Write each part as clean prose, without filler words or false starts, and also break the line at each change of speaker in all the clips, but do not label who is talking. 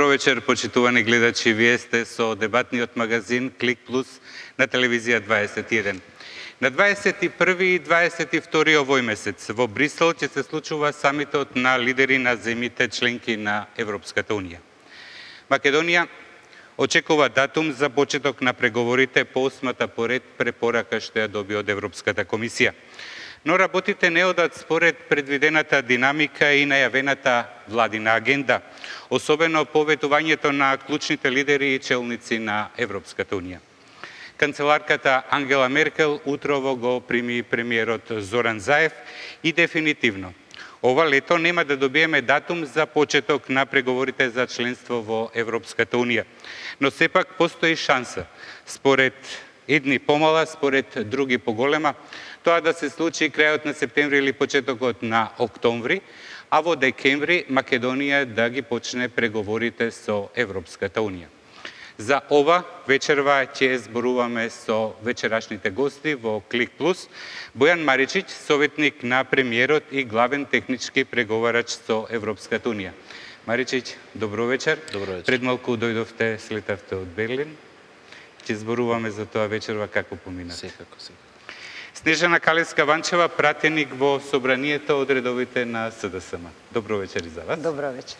Добро вечер, почитувани гледачи. Вие сте со дебатниот магазин Клик Плюс на телевизија 21. На 21 и 22 овој месец во Брисел ќе се случува самитот на лидери на земјите членки на Европската Унија. Македонија очекува датум за почеток на преговорите по осмата поред препорака што ја доби од Европската комисија. Но работите не одат според предвидената динамика и најавената владина агенда, особено по ветувањето на клучните лидери и челници на Европската Унија. Канцеларката Ангела Меркел утрово го прими премиерот Зоран Заев и дефинитивно ова лето нема да добиеме датум за почеток на преговорите за членство во Европската Унија. Но сепак постои шанса, според едни помала, според други поголема, тоа да се случи крајот на септември или почетокот на октомври, а во декември Македонија да ги почне преговорите со Европската Унија. За ова вечерва ќе зборуваме со вечерашните гости во Клик Плюс. Бојан Маричич, советник на премиерот и главен технички преговарач со Европската Унија. Маричич, добро вечер.
Добро вечер.
Пред малку дојдовте, слетавте од Берлин. Ќе зборуваме за тоа вечерва како поминате.
Секако.
Снежана Калевска-Ванчева, пратеник во собранието од редовите на СДСМ. Добро вечер и за вас.
Добро вечер.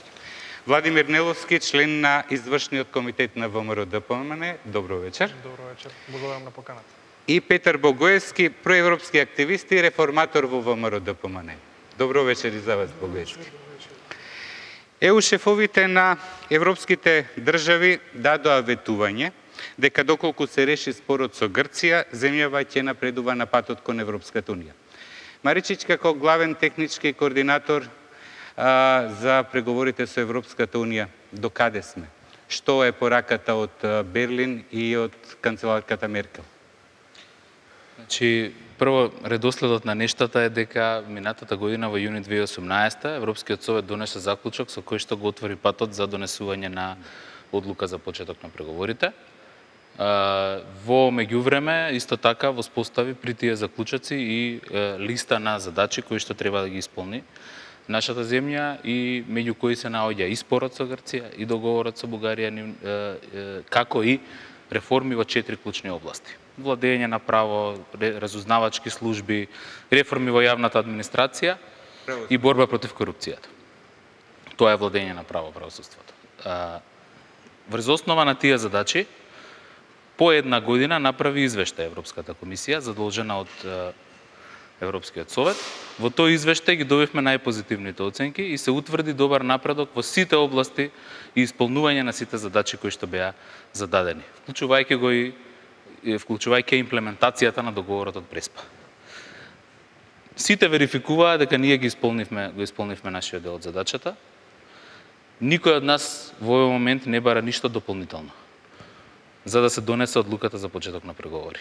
Владимир Неловски, член на извршниот комитет на ВМРО-ДПМН. Добро вечер.
Добро вечер. Благодарам на поканата.
И Петар Богоевски, проевропски активист и реформатор во ВМРО-ДПМН. Добро вечер и за вас, Богоевски. ЕУ шефовите на европските држави дадоа ветување дека доколку се реши спорот со Грција, земјава ќе напредува на патот кон Европската Унија. Маричич, како главен технички координатор за преговорите со Европската Унија, до каде сме? Што е пораката од Берлин и од канцеларката Меркел?
Значи, прво, редоследот на нештата е дека минатата година во јуни 2018 Европскиот совет донесе заклучок со кој што го отвори патот за донесување на одлука за почеток на преговорите. Во меѓувреме, исто така, воспостави при тие заклучоци и листа на задачи кои што треба да ги исполни нашата земја и меѓу кои се наоѓа и спорот со Грција, и договорот со Бугарија, како и реформи во 4 клучни области. Владење на право, разузнавачки служби, реформи во јавната администрација и борба против корупцијата. Тоа е владење на право, правосудството. Врз основа на тие задачи, по една година направи извештај Европската комисија, задолжена од Европскиот совет. Во тој извештај ги добивме најпозитивните оценки и се утврди добар напредок во сите области и исполнување на сите задачи кои што беа зададени, вклучувајќи имплементацијата на договорот од Преспа. Сите верификуваа дека ние го исполнивме нашиот дел од задачата. Никој од нас во овој момент не бара ништо дополнително за да се донесе одлуката за почеток на преговори.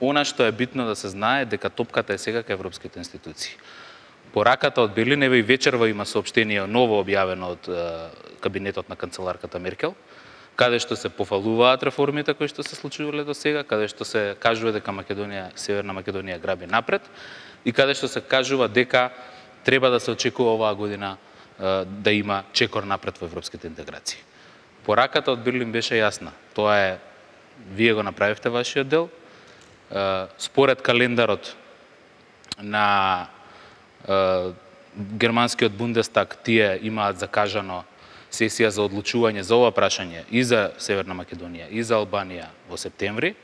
Она што е битно да се знае дека топката е сега кај европските институции. Пораката од Берлин, еве и вечерва има соопштение ново објавено од кабинетот на канцеларката Меркел, каде што се пофалуваат реформите кои што се случувале до сега, каде што се кажува дека Северна Македонија граби напред и каде што се кажува дека треба да се очекува оваа година да има чекор напред во европските интеграции. Пораката од Берлин беше јасна. Тоа е, вие го направивте вашиот дел. Според календарот на германскиот Бундестаг, тие имаат закажано сесија за одлучување за ова прашање и за Северна Македонија и за Албанија во септември.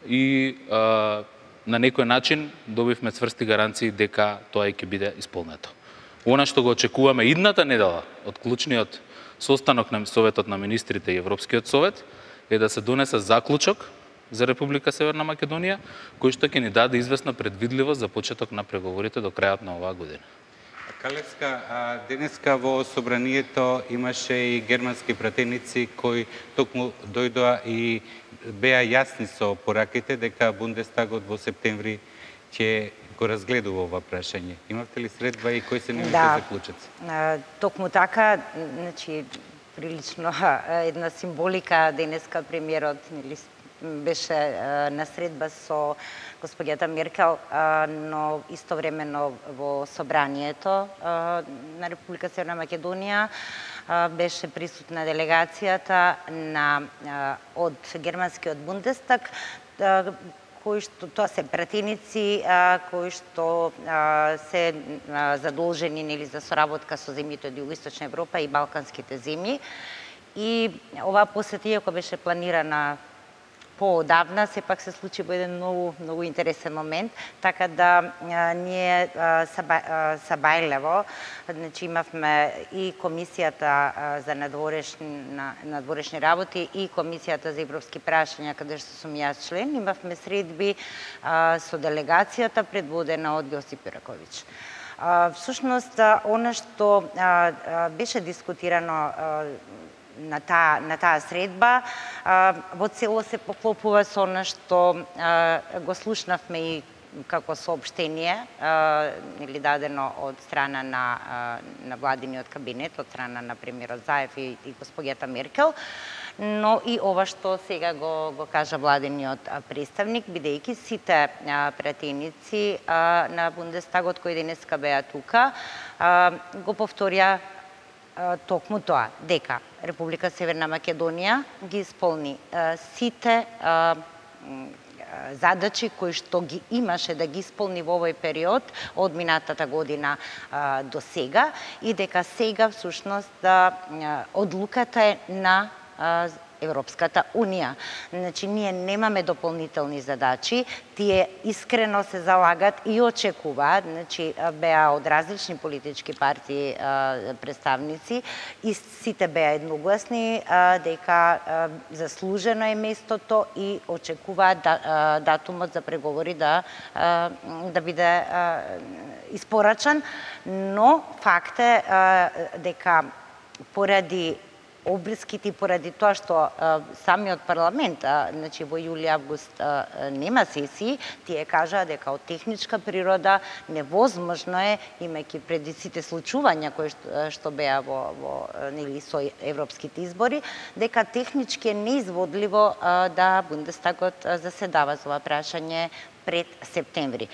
И на некој начин добивме цврсти гаранции дека тоа ќе биде исполнето. Она што го очекуваме идната недела од клучниот состанок на Советот на министрите и Европскиот совет е да се донесе заклучок за Република Северна Македонија, кој што ќе ни даде известна предвидливост за почеток на преговорите до крајот на оваа година.
Калевска, денеска во собранието имаше и германски пратеници кои токму дојдоа и беа јасни со пораките дека Бундестагот во септември ќе го разгледува ова прашање. Имавте ли средба и кои се нивните заклучоци?
Токму така, значи прилично една символика денеска премиерот беше на средба со господјата Меркел, но истовремено во собранието на Република Северна Македонија беше присутна делегацијата од германскиот Бундестаг, кои што тоа се пратеници кои што се задолжени нели за соработка со земјите од Југоисточна Европа и балканските земји. И оваа посета, иако беше планирана поодавна, сепак се случи во еден многу интересен момент, така да ние Сабајлево, значи имавме и комисијата за надворешни работи и комисијата за европски прашања, каде што сум јас член, имавме средби со делегацијата предводена од Јосип Јураковиќ. Всушност, она што беше дискутирано на таа средба, во цело се поклопува со она што го слушнавме и како соопштение или дадено од страна на владиниот кабинет, од страна на премиерот Заев и господјата Меркел, но и ова што сега го кажа владиниот представник, бидејќи сите пратеници на Бундестагот кои денеска беа тука, го повторија токму тоа, дека Република Северна Македонија ги исполни сите задачи кои што ги имаше да ги исполни во овој период од минатата година до сега и дека сега всушност одлуката е на Европската Унија. Значи, ние немаме дополнителни задачи, тие искрено се залагат и очекуваат, значи, беа од различни политички партии представници и сите беа едногласни дека заслужено е местото и очекуваат датумот за преговори да биде испорачан, но факт е дека поради обврските, поради тоа што самиот парламент, значи во јули-август нема сесии, тие кажаа дека од техничка природа невозможно е, имајќи преди сите случувања кои што беа во нели со европските избори, дека технички е неизводливо да Бундестагот заседава за ова прашање пред септември.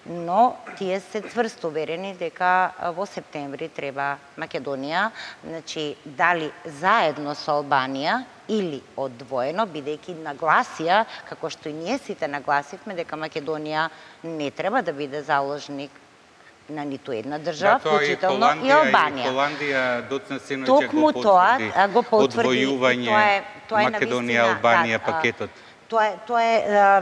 Но тие се цврсто уверени дека во септември треба Македонија, значи дали заедно со Албанија или одвоено, бидејќи нагласија, како што и ние сите нагласивме, дека Македонија не треба да биде заложник на ниту една држава, вклучително и Албанија.
Холандија доцна синоќа го потврди одвојување Македонија-Албанија пакетот.
Тоа е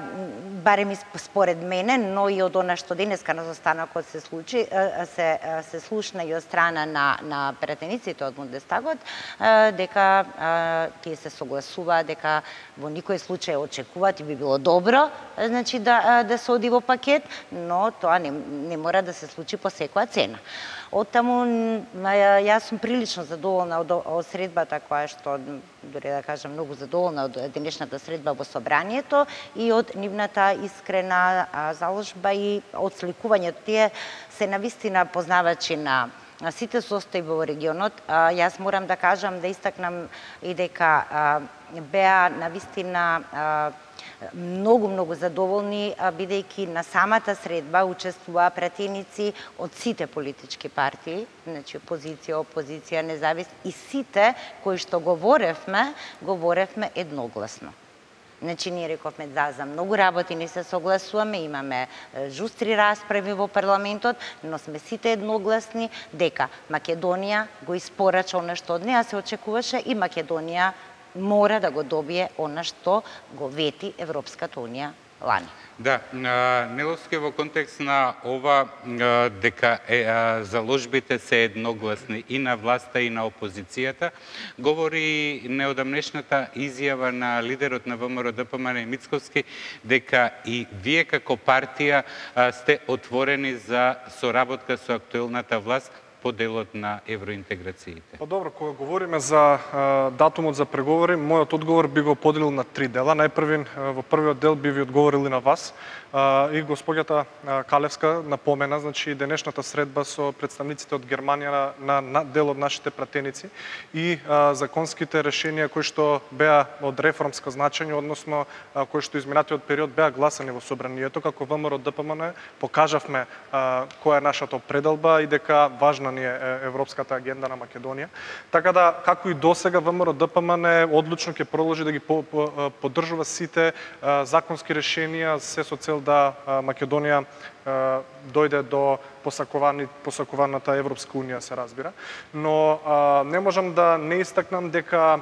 барем и според мене, но и од она што денеска на застанокот се случи, се слушна и од страна на пратениците од Бундестагот, дека тие се согласуваат дека во никој случај очекуваат и би било добро, значи да се оди во пакет, но тоа не мора да се случи по секоја цена. Оттаму, јас сум прилично задоволна од средбата која што, дори да кажам, многу задоволна од денешната средба во собранието и од нивната искрена заложба и одсликувањето. Тие се навистина познавачи на сите состојби во регионот. Јас морам да кажам, да истакнам и дека беа навистина многу задоволни, бидејќи на самата средба учествуваа пратеници од сите политички партии, значи позиција, опозиција, независни, и сите кои што говоревме едногласно. Значи, ние рековме за многу работи не се согласуваме, имаме жустри расправи во парламентот, но сме сите едногласни дека Македонија го испорача она што од неа се очекуваше и Македонија мора да го добие она што го вети Европската Унија лани.
Да, Неловски во контекст на ова дека заложбите се едногласни и на власта и на опозицијата, говори неодамнешната изјава на лидерот на ВМРО ДПМН Мицковски дека и вие како партија сте отворени за соработка со актуелната власт по делот на евроинтеграциите?
Па добро, кога говориме за датумот за преговори, мојот одговор би го поделил на 3 дела. Најпрвин, во првиот дел би ви одговорил и на вас. И госпоѓата Калевска напомена, значи денешната средба со представниците од Германија на дел од нашите пратеници и законските решенија кои што беа од реформска значење, односно кои што изминатиот период беа гласани во собранието, како ВМРО ДПМН покажавме која е нашата определба и дека важна ни е европската агенда на Македонија. Така да, како и досега, ВМРО ДПМН одлучно ќе продолжи да ги поддржува сите законски решенија, се со цел да Македонија дојде до посакуваната Европска унија, се разбира. Но не можам да не истакнам дека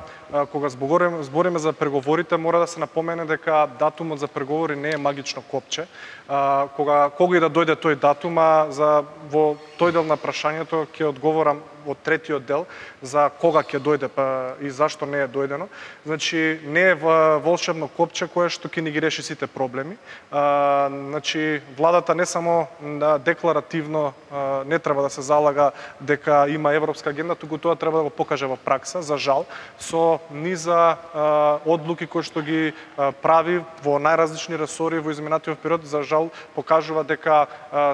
кога збориме за преговорите, мора да се напомене дека датумот за преговори не е магично копче. Кога и да дојде тој датум, во тој дел на прашањето ќе одговорам во третиот дел за кога ќе дојде и зашто не е дојдено. Значи не е волшебно копче кое што ќе ни ги реши сите проблеми. Значи владата не само декларативно не треба да се залага дека има европска агенда, туку тоа треба да го покаже во пракса, за жал, со низа одлуки кои што ги прави во најразлични ресори во изминатиот период, за жал покажува дека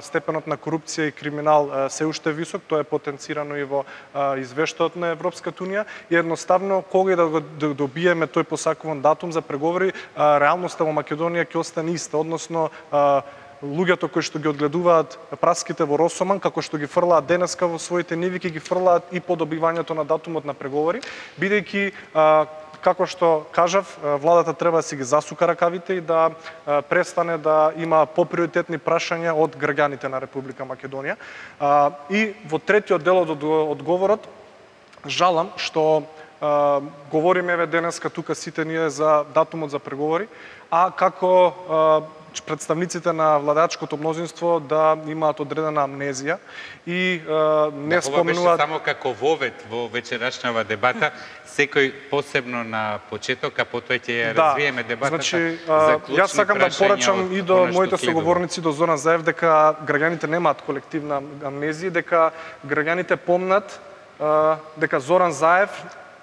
степенот на корупција и криминал се уште висок, тоа е потенцирано и во извештајот на Европската унија и едноставно кога и да го добиеме тој посакуван датум за преговори, реалноста во Македонија ќе остане иста, односно луѓето кои што ги одгледуваат праските во Росоман, како што ги фрлаат денеска во своите ниви, ќе ги фрлаат и по добивањето на датумот на преговори, бидејќи како што кажав, владата треба да си ги засука ракавите и да престане да има поприоритетни прашања од граѓаните на Република Македонија. И во третиот дел од одговорот, жалам што говориме денеска тука сите ние за датумот за преговори, а како представниците на владачкото мнозинство да имаат одредена амнезија и не спомнуваат...
Ова беше само како вовед во вечерашнава дебата, секој посебно на почеток, а потоа ќе ја развиеме дебатата.
Значи,
за клучни
јас сакам да порачам и до моите
следува.
соговорници, до Зоран Заев, дека граѓаните немаат колективна амнезија, дека граѓаните помнат дека Зоран Заев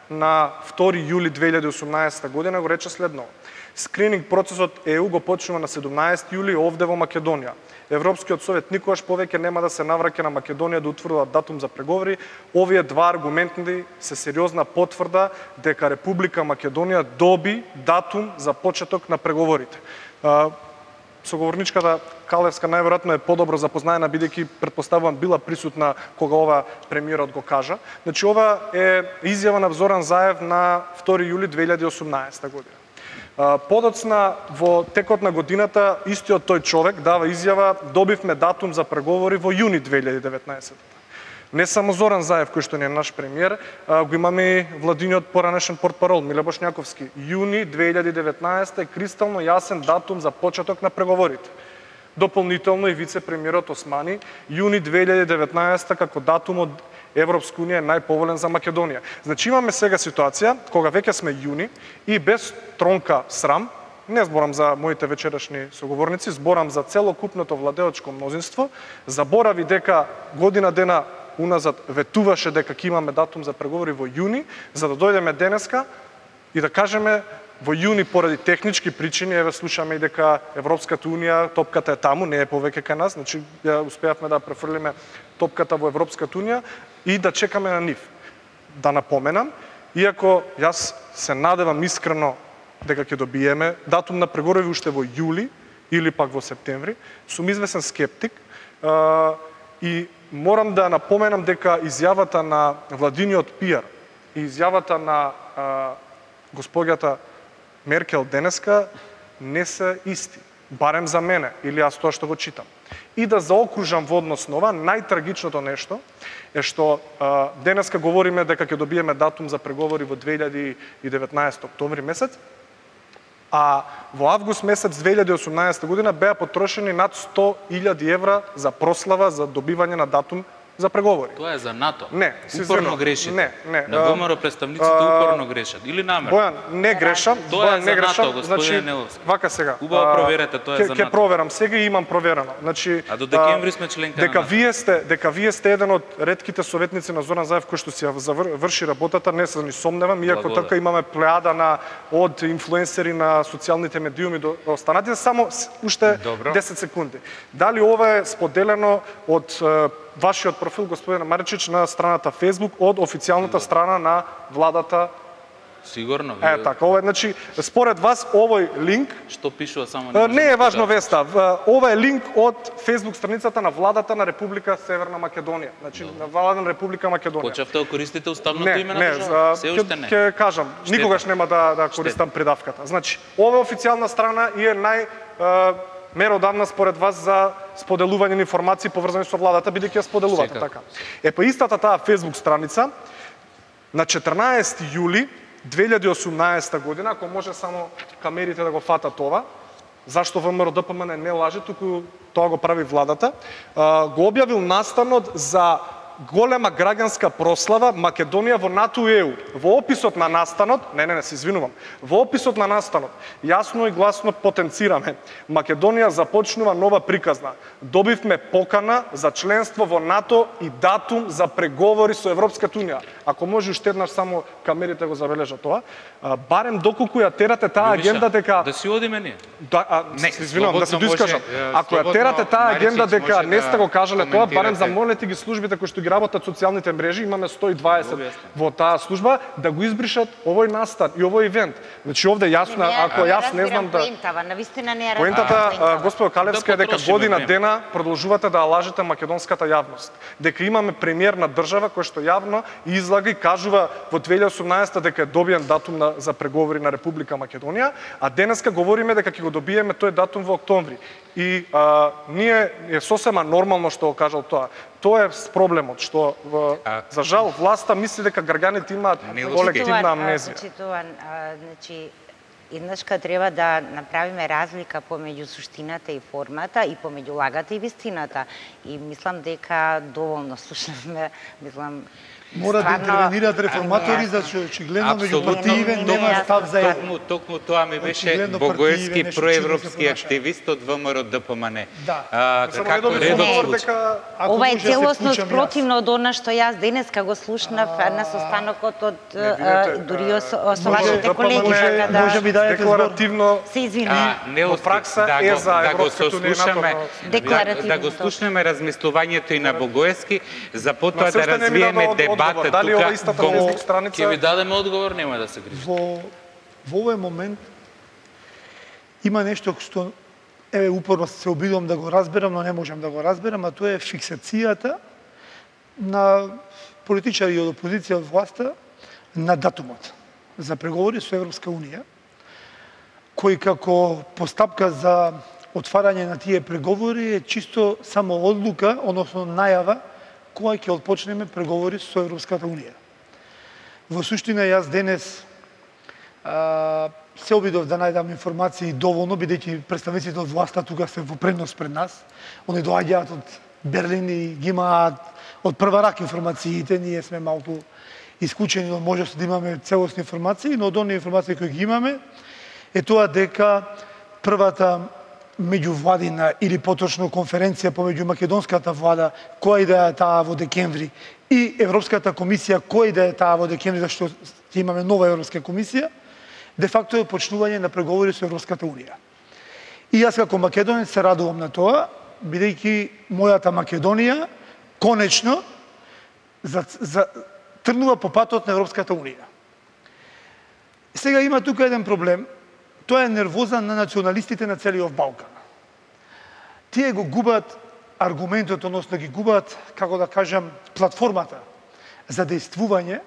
на 2 јули 2018 година го рече следно: скрининг процесот ЕУ го почнува на 17 јули овде во Македонија. Европскиот совет никогаш повеќе нема да се навраќа на Македонија да утврдува датум за преговори. Овие два аргументи се сериозна потврда дека Република Македонија доби датум за почеток на преговорите. Соговорничката Калевска најверојатно е подобро запознаена, бидејќи претпоставувам била присутна кога ова премиерот го кажа. Значи ова е изјава на Зоран Заев на 2 јули 2018 година. Подоцна во текот на годината истиот тој човек дава изјава: добивме датум за преговори во јуни 2019. Не само Зоран Заев, кој што не е наш премиер, го имаме и владиниот поранешен портпарол Миле Бошњаковски. Јуни 2019 е кристално јасен датум за почеток на преговорите. Дополнително и вице-премиерот Османи, јуни 2019 како датум од Европска унија е најповолен за Македонија. Значи имаме сега ситуација кога веќе сме јуни и без тронка срам, не зборам за моите вечерашни соговорници, зборам за целокупното владеочко мнозинство, заборави дека година дена уназад ветуваше дека ќе имаме датум за преговори во јуни, за да дојдеме денеска и да кажеме во јуни поради технички причини, еве слушаме и дека Европската унија, топката е таму, не е повеќе кај нас, значи успеавме да префрлиме топката во Европската унија и да чекаме на нив. Да напоменам, иако јас се надевам искрено дека ќе добиеме датум на преговори уште во јули или пак во септември, сум извесен скептик и морам да напоменам дека изјавата на владиниот пиар и изјавата на госпоѓата Меркел денеска не се исти, барем за мене, или јас тоа што го читам. И да заокружам во однос на ова, најтрагичното нешто е што денеска говориме дека ќе добиеме датум за преговори во 2019 октомври месец, а во август месец 2018 година беа потрошени над 100.000 евра за прослава за добивање на датум за преговори.
Тоа е за НАТО.
Не, се
упорно
извинувам.
грешите.
Не.
На ВМРО представниците упорно грешат или намерно.
Бојан, не грешам.
Тоа е
Бојан,
за
не грешам.
НАТО, господине
Значи,
Неловски.
вака сега.
Убаво проверете, тоа е за
Ќе
НАТО.
проверам сега и имам проверено. Значи,
А до декември сме членка на НАТО.
дека вие сте еден од ретките советници на Зоран Заев кој што си ја врши работата, не се ни сомневам, иако
Благодарам.
така имаме плеада од инфлуенсери на социјалните медиуми до останатите, само уште
Добро.
10 секунди. Дали ова е споделено од вашиот профил, господине Маричич, на страната Facebook, од официјалната страна на владата?
Сигурно.
Така, ова е, значи, според вас, овој линк,
Што пишува само
не е важно веста, ова е линк од Facebook страницата на владата на Република Северна Македонија, значи на владата на Република Македонија.
Почевте да користите уставното име на држава?
Не,
Се уште не.
ќе кажам, никогаш нема да користам придавката. Значи, ова е официјална страна и е меродавна според вас за споделување на информации поврзани со владата, бидејќи ја споделувате така. Па истата таа Facebook страница на 14 јули 2018 година, ако може само камерите да го фатат ова, зашто ВМРО ДПМН не лаже, туку тоа го прави владата, го објавил настанот за голема граѓанска прослава Македонија во НАТО и ЕУ. Во описот на настанот, се извинувам, во описот на настанот, јасно и гласно потенцираме. Македонија започнува нова приказна. Добивме покана за членство во НАТО и датум за преговори со Европската Унија. Ако може уште еднаш само камерите го забележат тоа, барем доколку ја терате таа агенда дека
да си одиме ние.
Не, се извинувам, да се доискажам. Ако ја терате таа агенда дека не сте го кажале тоа, барем замолете ги службите кои што ги работат социјалните мрежи, имаме 120 во таа служба, да го избришат овој настан и овој ивент. Значи овде јасно, ако јас не знам да... Поентата, господо Калевска, е дека година дена продолжувате да лажете македонската јавност. Дека имаме премиер на држава кој што јавно излага и кажува во 2018 дека е добиен датум за преговори на Република Македонија, а денеска говориме дека ќе го добиеме тој датум во октомври. И ние е сосема нормално што го кажал тоа. Тоа е проблемот, што за жал власта мисли дека граѓаните имаат колективна амнезија.
Значи, еднашка треба да направиме разлика помеѓу суштината и формата и помеѓу лагата и вистината. И мислам дека доволно слушнавме,
Мора да интервенираат реформатори, зашто очигледно меѓу партиите нема став за едно.
Токму тоа ми беше Богоевски проевропски активист од ВМРО ДПМН.
Како
ова е целосно спротивно од она што јас денеска го слушнав на состанокот од дури со вашите колеги, така да
може би дајете
декларативно
се извинувам.
Во пракса е за Европската Унија.
Да го слушнеме размислувањето и на Богоевски, за потоа да развиеме дебата
дали ова истата Facebook страница
ќе ви дадеме одговор, нема да се грижите.
Во овој момент има нешто што упорно се обидувам да го разберам, но не можам да го разберам, а тоа е фиксацијата на политичари од опозиција од власта на датумот за преговори со Европска Унија, кој како постапка за отварање на тие преговори е чисто само одлука, односно најава кога ќе отпочнеме преговори со Европската Унија. Во суштина, јас денес се обидов да најдам информации доволно, бидејќи представниците од власта тука се во предност пред нас. Они доаѓаат од Берлин и ги имаат од прва рака информациите, ние сме малку исклучени од можност да имаме целосни информации, но од оние информации кои ги имаме е тоа дека првата меѓувладина или поточно конференција помеѓу македонската влада, која и да е таа во декември, и Европската комисија, која и да е таа во декември, зашто ќе имаме нова Европска комисија, де факто е почнување на преговори со Европската Унија. И јас како македонец се радувам на тоа, бидејќи мојата Македонија конечно тргнува по патот на Европската Унија. Сега има тука еден проблем. Тоа е нервоза на националистите на целиот Балкан. Тие го губат аргументот, односно ги губат, како да кажам, платформата за дејствување,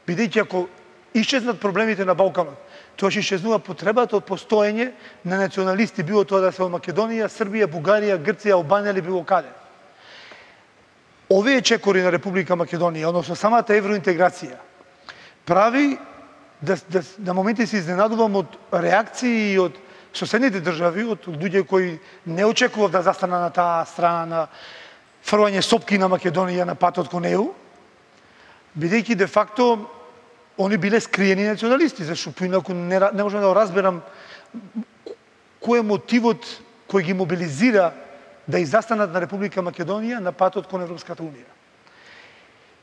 бидејќи ако исчезнат проблемите на Балканот, тоа ќе исчезнува потребата од постоење на националисти, било тоа да се од Македонија, Србија, Бугарија, Грција, Албанија или било каде. Овие чекори на Република Македонија, односно самата евроинтеграција, прави на моменти се изненадувам од реакции и од соседните држави, од луѓе кои не очекував да застанат на таа страна на фрлање сопки на Македонија на патот кон ЕУ, бидејќи де факто они биле скриени националисти, зашто поинаку не можам да го разберам кој е мотивот кој ги мобилизира да изастанат на Република Македонија на патот кон Европската Унија.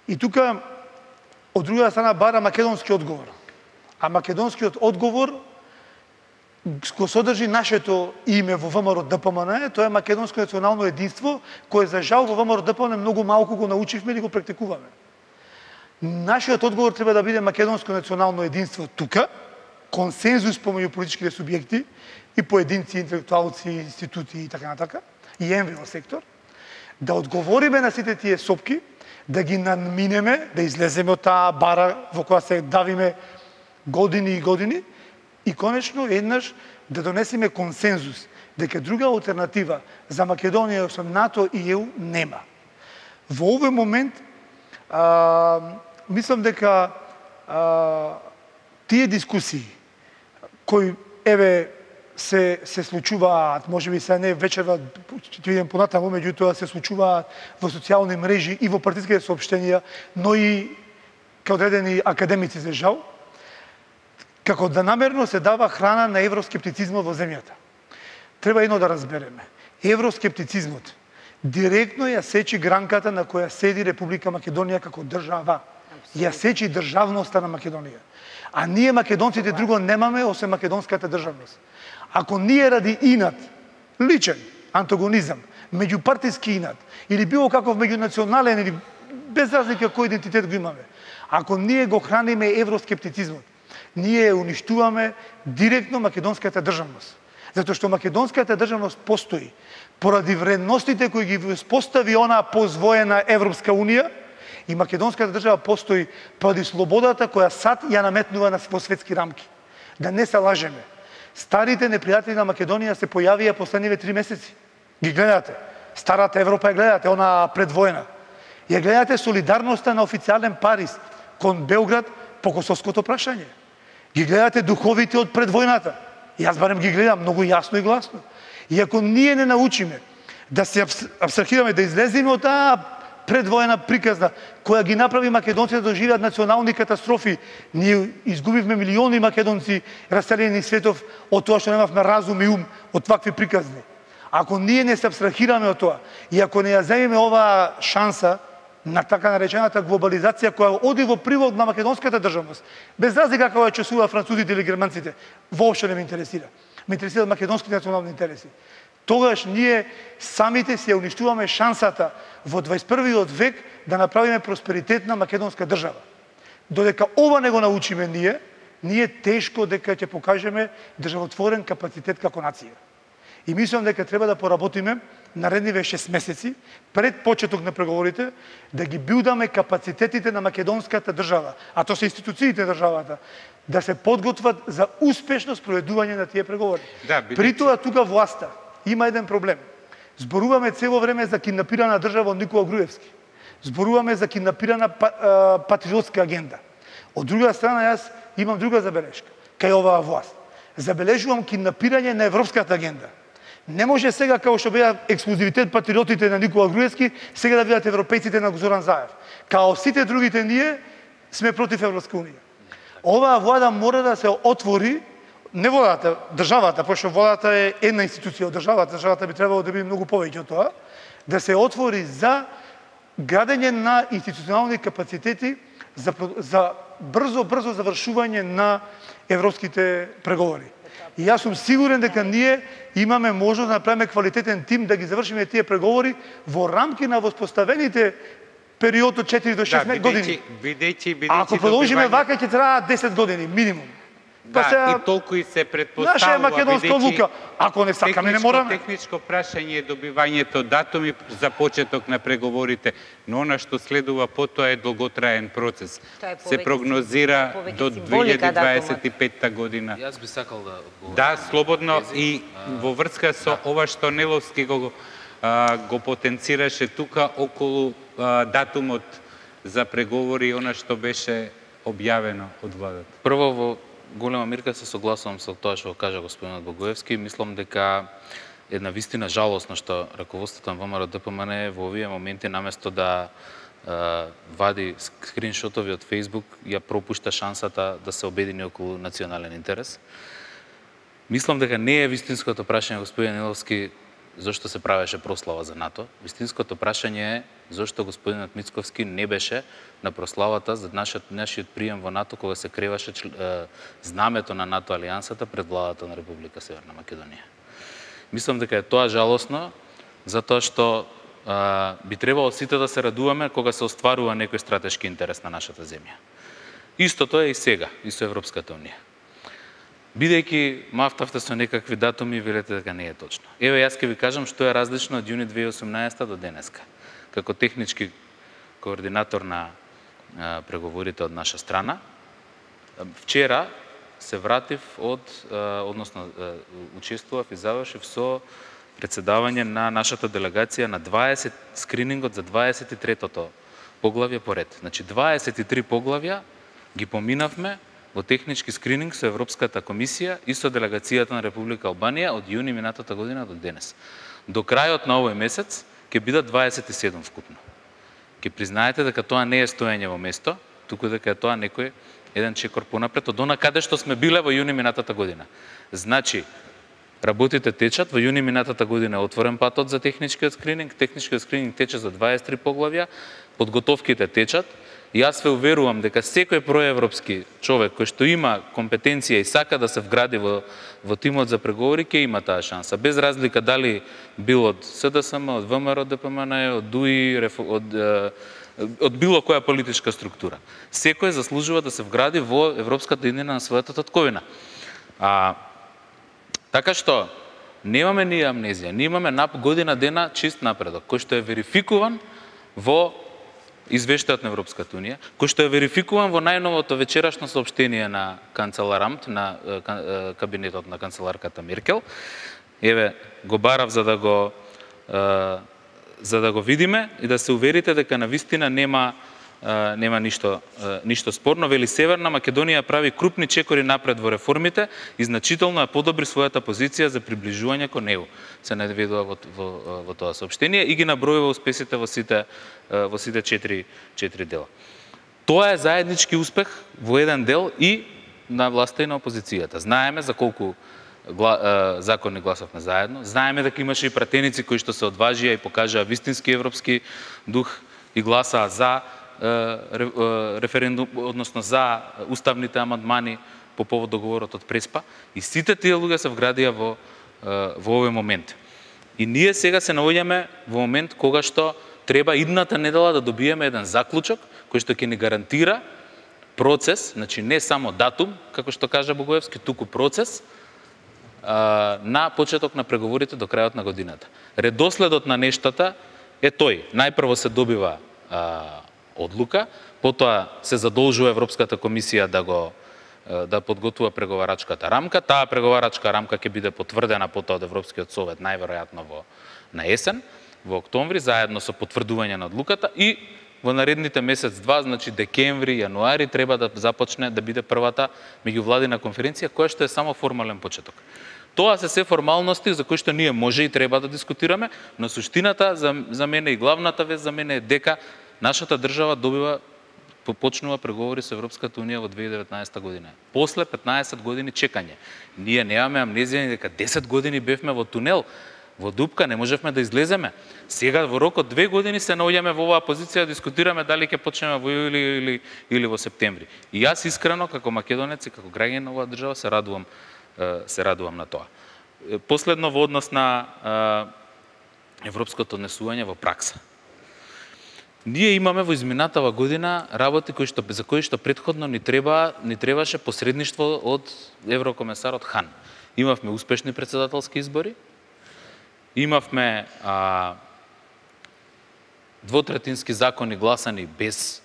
И тука, од друга страна, бара македонски одговор. А македонскиот одговор го содржи нашето име во ВМРО ДПМН, тоа е македонско национално единство, кое за жал во ВМРО ДПМН многу малку го научивме и го практикуваме. Нашиот одговор треба да биде македонско национално единство тука, консензус помеѓу политичките субјекти и поединци, интелектуалци, институти и така натака, и НВО сектор, да одговориме на сите тие сопки, да ги надминеме, да излеземе од таа бара во која се давиме години и години, и конечно еднаш да донесеме консензус дека друга алтернатива за Македонија со НАТО и ЕУ нема. Во овој момент мислам дека тие дискусии кои се случуваат, можеби се не вечерва, ќе видим понатаму, меѓутоа се случуваат во социјални мрежи и во партиските соопштенија, но и кај одредени академици за жал, како да намерно се дава храна на евроскептицизмот во земјата. Треба едно да разбереме. Евроскептицизмот директно ја сечи гранката на која седи Република Македонија како држава. Ја сечи државноста на Македонија. А ние македонците друго немаме освен македонската државност. Ако ние ради инат, личен антагонизам, меѓупартиски инат или било каков меѓунационален или без разлика кој идентитет го имаме, ако ние го храниме евроскептицизмот, ние уништуваме директно македонската државност. Затоа што македонската државност постои поради вредностите кои ги воспостави онаа позвоена Европска Унија, и македонската држава постои поради слободата која САД ја наметнува во светски рамки. Да не се лажеме. Старите непријатели на Македонија се појавија последниве 3 месеци. Ги гледате. Старата Европа ја гледате, она предвоена. Ја гледате солидарноста на официјален Париз кон Белград по косовското прашање. Ги гледате духовите од предвојната. Јас барем ги гледам многу јасно и гласно. И ако ние не научиме да се абстрахираме, да излеземе од таа предвоена приказна, која ги направи македонците да доживеат национални катастрофи, ние изгубивме милиони македонци раселени светов од тоа што немавме разум и ум од такви приказни. Ако ние не се абстрахираме од тоа и ако не ја земеме оваа шанса на така наречената глобализација која оди во привод на македонската државност, без разлика како ја чувствува французите или германците, воопшто не ме интересира. Ме интересираат македонските национални интереси. Тогаш ние самите си ја уништуваме шансата во 21. век да направиме просперитетна македонска држава. Додека ова не го научиме ние тешко дека ќе покажеме државотворен капацитет како нација. И мислам дека треба да поработиме наредниве 6 месеци пред почеток на преговорите да ги билдаме капацитетите на македонската држава, а тоа се институциите на државата, да се подготват за успешно спроведување на тие преговори.
Да,
При тоа тука власта има еден проблем. Зборуваме цело време за киднапирана држава од Никола Груевски. Зборуваме за киднапирана патриотска агенда. Од друга страна, јас имам друга забелешка кај оваа власт. Забележувам киднапирање на европската агенда. Не може сега, као што беа ексклузивитет патриотите на Никола Груевски, сега да бидат европејците на Зоран Заев. Као сите другите ние сме против Европска Унија. Оваа влада мора да се отвори, не владата, државата, пошто владата е една институција од државата, државата би требало да биде многу повеќе од тоа, да се отвори за градење на институционални капацитети за брзо завршување на европските преговори. И јас сум сигурен дека ние имаме можност да направиме квалитетен тим да ги завршиме тие преговори во рамки на воспоставените период од 4 до 6 години. Ако продолжиме вака, ќе траа 10 години минимум.
Да, и толку и се предпоставува.
Наша е македонска одлука. Ако не сакаме, не мораме.
Техничко прашање е добивањето датуми за почеток на преговорите, но она што следува потоа е долготраен процес. Се прогнозира до 2025 година.
Јас би сакал да одговорам.
Да, слободно и во врска со ова што Неловски го потенцираше тука околу датумот за преговори, она што беше објавено од владата.
Прво, во голема мирка се согласувам со тоа што кажа господинот Богоевски. Мислам дека една вистина жалосно што раководството на ВМРО ДПМН во овие моменти наместо да вади скриншотови од Facebook, ја пропушта шансата да се обедини околу национален интерес. Мислам дека не е вистинското прашање, господин Иловски, зошто се правеше прослава за НАТО. Вистинското прашање е зошто господинот Мицковски не беше на прославата за нашиот прием во НАТО кога се креваше знамето на НАТО алијансата пред владата на Република Северна Македонија. Мислам дека е тоа жалосно, затоа што би требало сите да се радуваме кога се остварува некој стратешки интерес на нашата земја. Истото е и сега, и со Европската унија. Бидејќи мафтавте со некакви датуми, велете дека не е точно. Еве, јас ќе ви кажам што е различно од јуни 2018 до денеска. Како технички координатор на преговорите од наша страна, вчера се вратив односно учествував и завршив со председавање на нашата делегација на 20 скринингот за 23-тото поглавје поред. Значи 23 поглавја ги поминавме во технички скрининг со Европската комисија и со делегацијата на Република Албанија од јуни минатата година до денес. До крајот на овој месец ќе бидат 27 вкупно. Ќе признаете дека тоа не е стоење во место, туку дека е тоа некој еден чекор понапред од она каде што сме биле во јуни минатата година. Значи, работите течат, во јуни минатата година е отворен патот за техничкиот скрининг тече за 23 поглавја, подготовките течат. И јас ве уверувам дека секој проевропски човек кој што има компетенција и сака да се вгради во тимот за преговори ќе има таа шанса, без разлика дали бил од СДСМ, од ВМРО ДПМН, од ДУИ, од било која политичка структура. Секој заслужува да се вгради во европската иднина на својата татковина. Така што немаме ние амнезија, ние имаме година дена чист напредок, кој што е верификуван во извештајот на Европската унија, кој што е верификуван во најновото вечерашно соопштение на канцелар Амт, на кабинетот на канцеларката Меркел. Еве, го барав за да го видиме и да се уверите дека навистина нема ништо спорно. Вели, Северна Македонија прави крупни чекори напред во реформите и значително ја подобри својата позиција за приближување кон него. Се наведува во тоа соопштение и ги набројува успесите во сите 4 дела. Тоа е заеднички успех во еден дел и на власта и на опозицијата. Знаеме за колку закони гласавме заедно, знаеме дека имаше и пратеници кои што се одважија и покажаа вистински европски дух и гласаа за референдум, односно за уставните амандмани по повод договорот од Преспа, и сите тие луѓе се вградија во овој момент. И ние сега се наоѓаме во момент кога што треба идната недела да добиеме еден заклучок кој што ќе ни гарантира процес, значи не само датум, како што кажа Богоевски, туку процес на почеток на преговорите до крајот на годината. Редоследот на нештата е тој. Најпрво се добива одлука, потоа се задолжува Европската комисија да подготвува преговарачката рамка. Таа преговарачка рамка ќе биде потврдена потоа од Европскиот совет најверојатно на есен, во октомври, заедно со потврдување на одлуката, и во наредните месец-два, значи декември, јануари, треба да започне да биде првата меѓувладина конференција, која што е само формален почеток. Тоа се формалности за кои што ние може и треба да дискутираме, но суштината за мене и главната вест за мене е дека нашата држава почнува преговори со Европската унија во 2019 година. После 15 години чекање. Ние немаме амнезија дека 10 години бевме во тунел, во дупка, не можевме да излеземе. Сега во рок од 2 години се наоѓаме во оваа позиција да дискутираме дали ќе почнеме во јули или во септември. И јас искрено како македонец и како граѓанин на оваа држава се радувам на тоа. Последно во однос на европското однесување во пракса. Ние имаме во изминатава година работи за кои што претходно ни требаше посредништво од еврокомесарот Хан. Имавме успешни председателски избори, имавме двотретински закони гласани без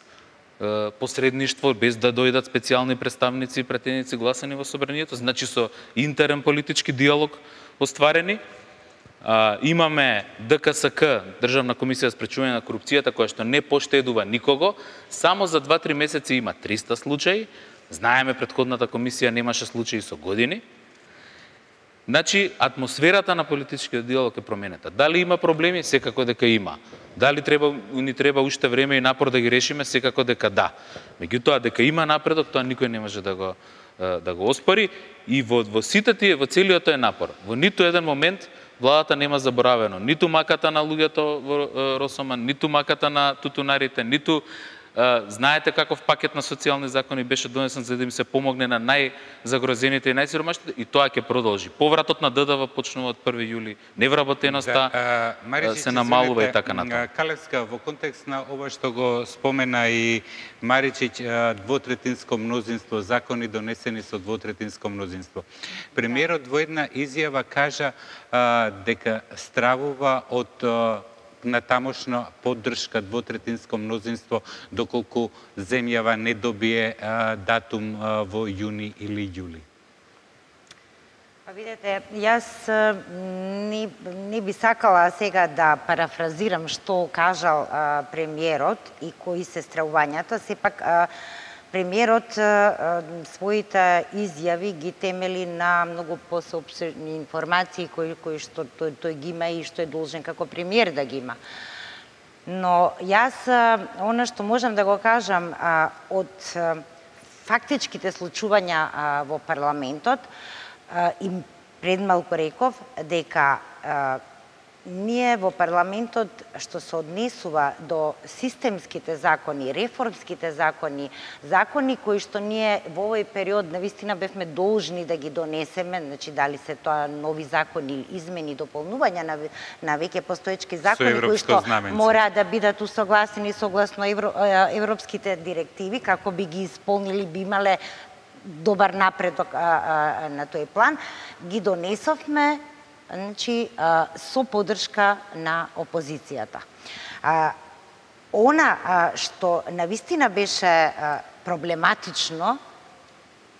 посредништво, без да дојдат специјални представници и пратеници гласани во собранието, значи со интерен политички диалог остварени. Имаме ДКСК, Државна комисија за спречување на корупцијата, која што не поштедува никого. Само за 2-3 месеци има 300 случаи. Знаеме, претходната комисија немаше случаи со години. Значи, атмосферата на политичкиот диалог е променета. Дали има проблеми? Секако дека има. Дали ни треба уште време и напор да ги решиме? Секако дека да. Меѓутоа, дека има напредок, тоа никој не може да го оспори. И во сите тие, во целиот тој напор, во ниту еден момент владата нема заборавено ниту маката на луѓето во Росоман, ниту маката на тутунарите, ниту знаете каков пакет на социјални закони беше донесен за да им се помогне на најзагрозените и најсиромашните, и тоа ќе продолжи. Повратот на ДДВ почнува од 1 јули, невработеноста се намалува и така натаму.
Калевска, во контекст на ова што го спомена и Маричич, двотретинско мнозинство, закони донесени со двотретинско мнозинство. Премиерот во една изјава кажа дека стравува од на тамошна поддршка двотретинско мнозинство доколку земјава не добие датум во јуни или јули?
Па видете, јас не би сакала сега да парафразирам што кажал премиерот и кои се стравувањата, сепак премиерот своите изјави ги темели на многу посеопштени информации кои што тој ги има и што е должен како премиер да ги има. Но јас она што можам да го кажам од фактичките случувања во парламентот и пред малку реков дека ние во парламентот што се однесува до системските закони, реформските закони, закони кои што ние во овој период навистина бевме должни да ги донесеме, значи дали се тоа нови закони, измени, дополнувања на веќе постоечки закони кои што мора да бидат усогласени согласно европските директиви, како би ги исполнили, би имале добар напредок на тој план, ги донесовме, значи, со поддршка на опозицијата. Она што навистина беше проблематично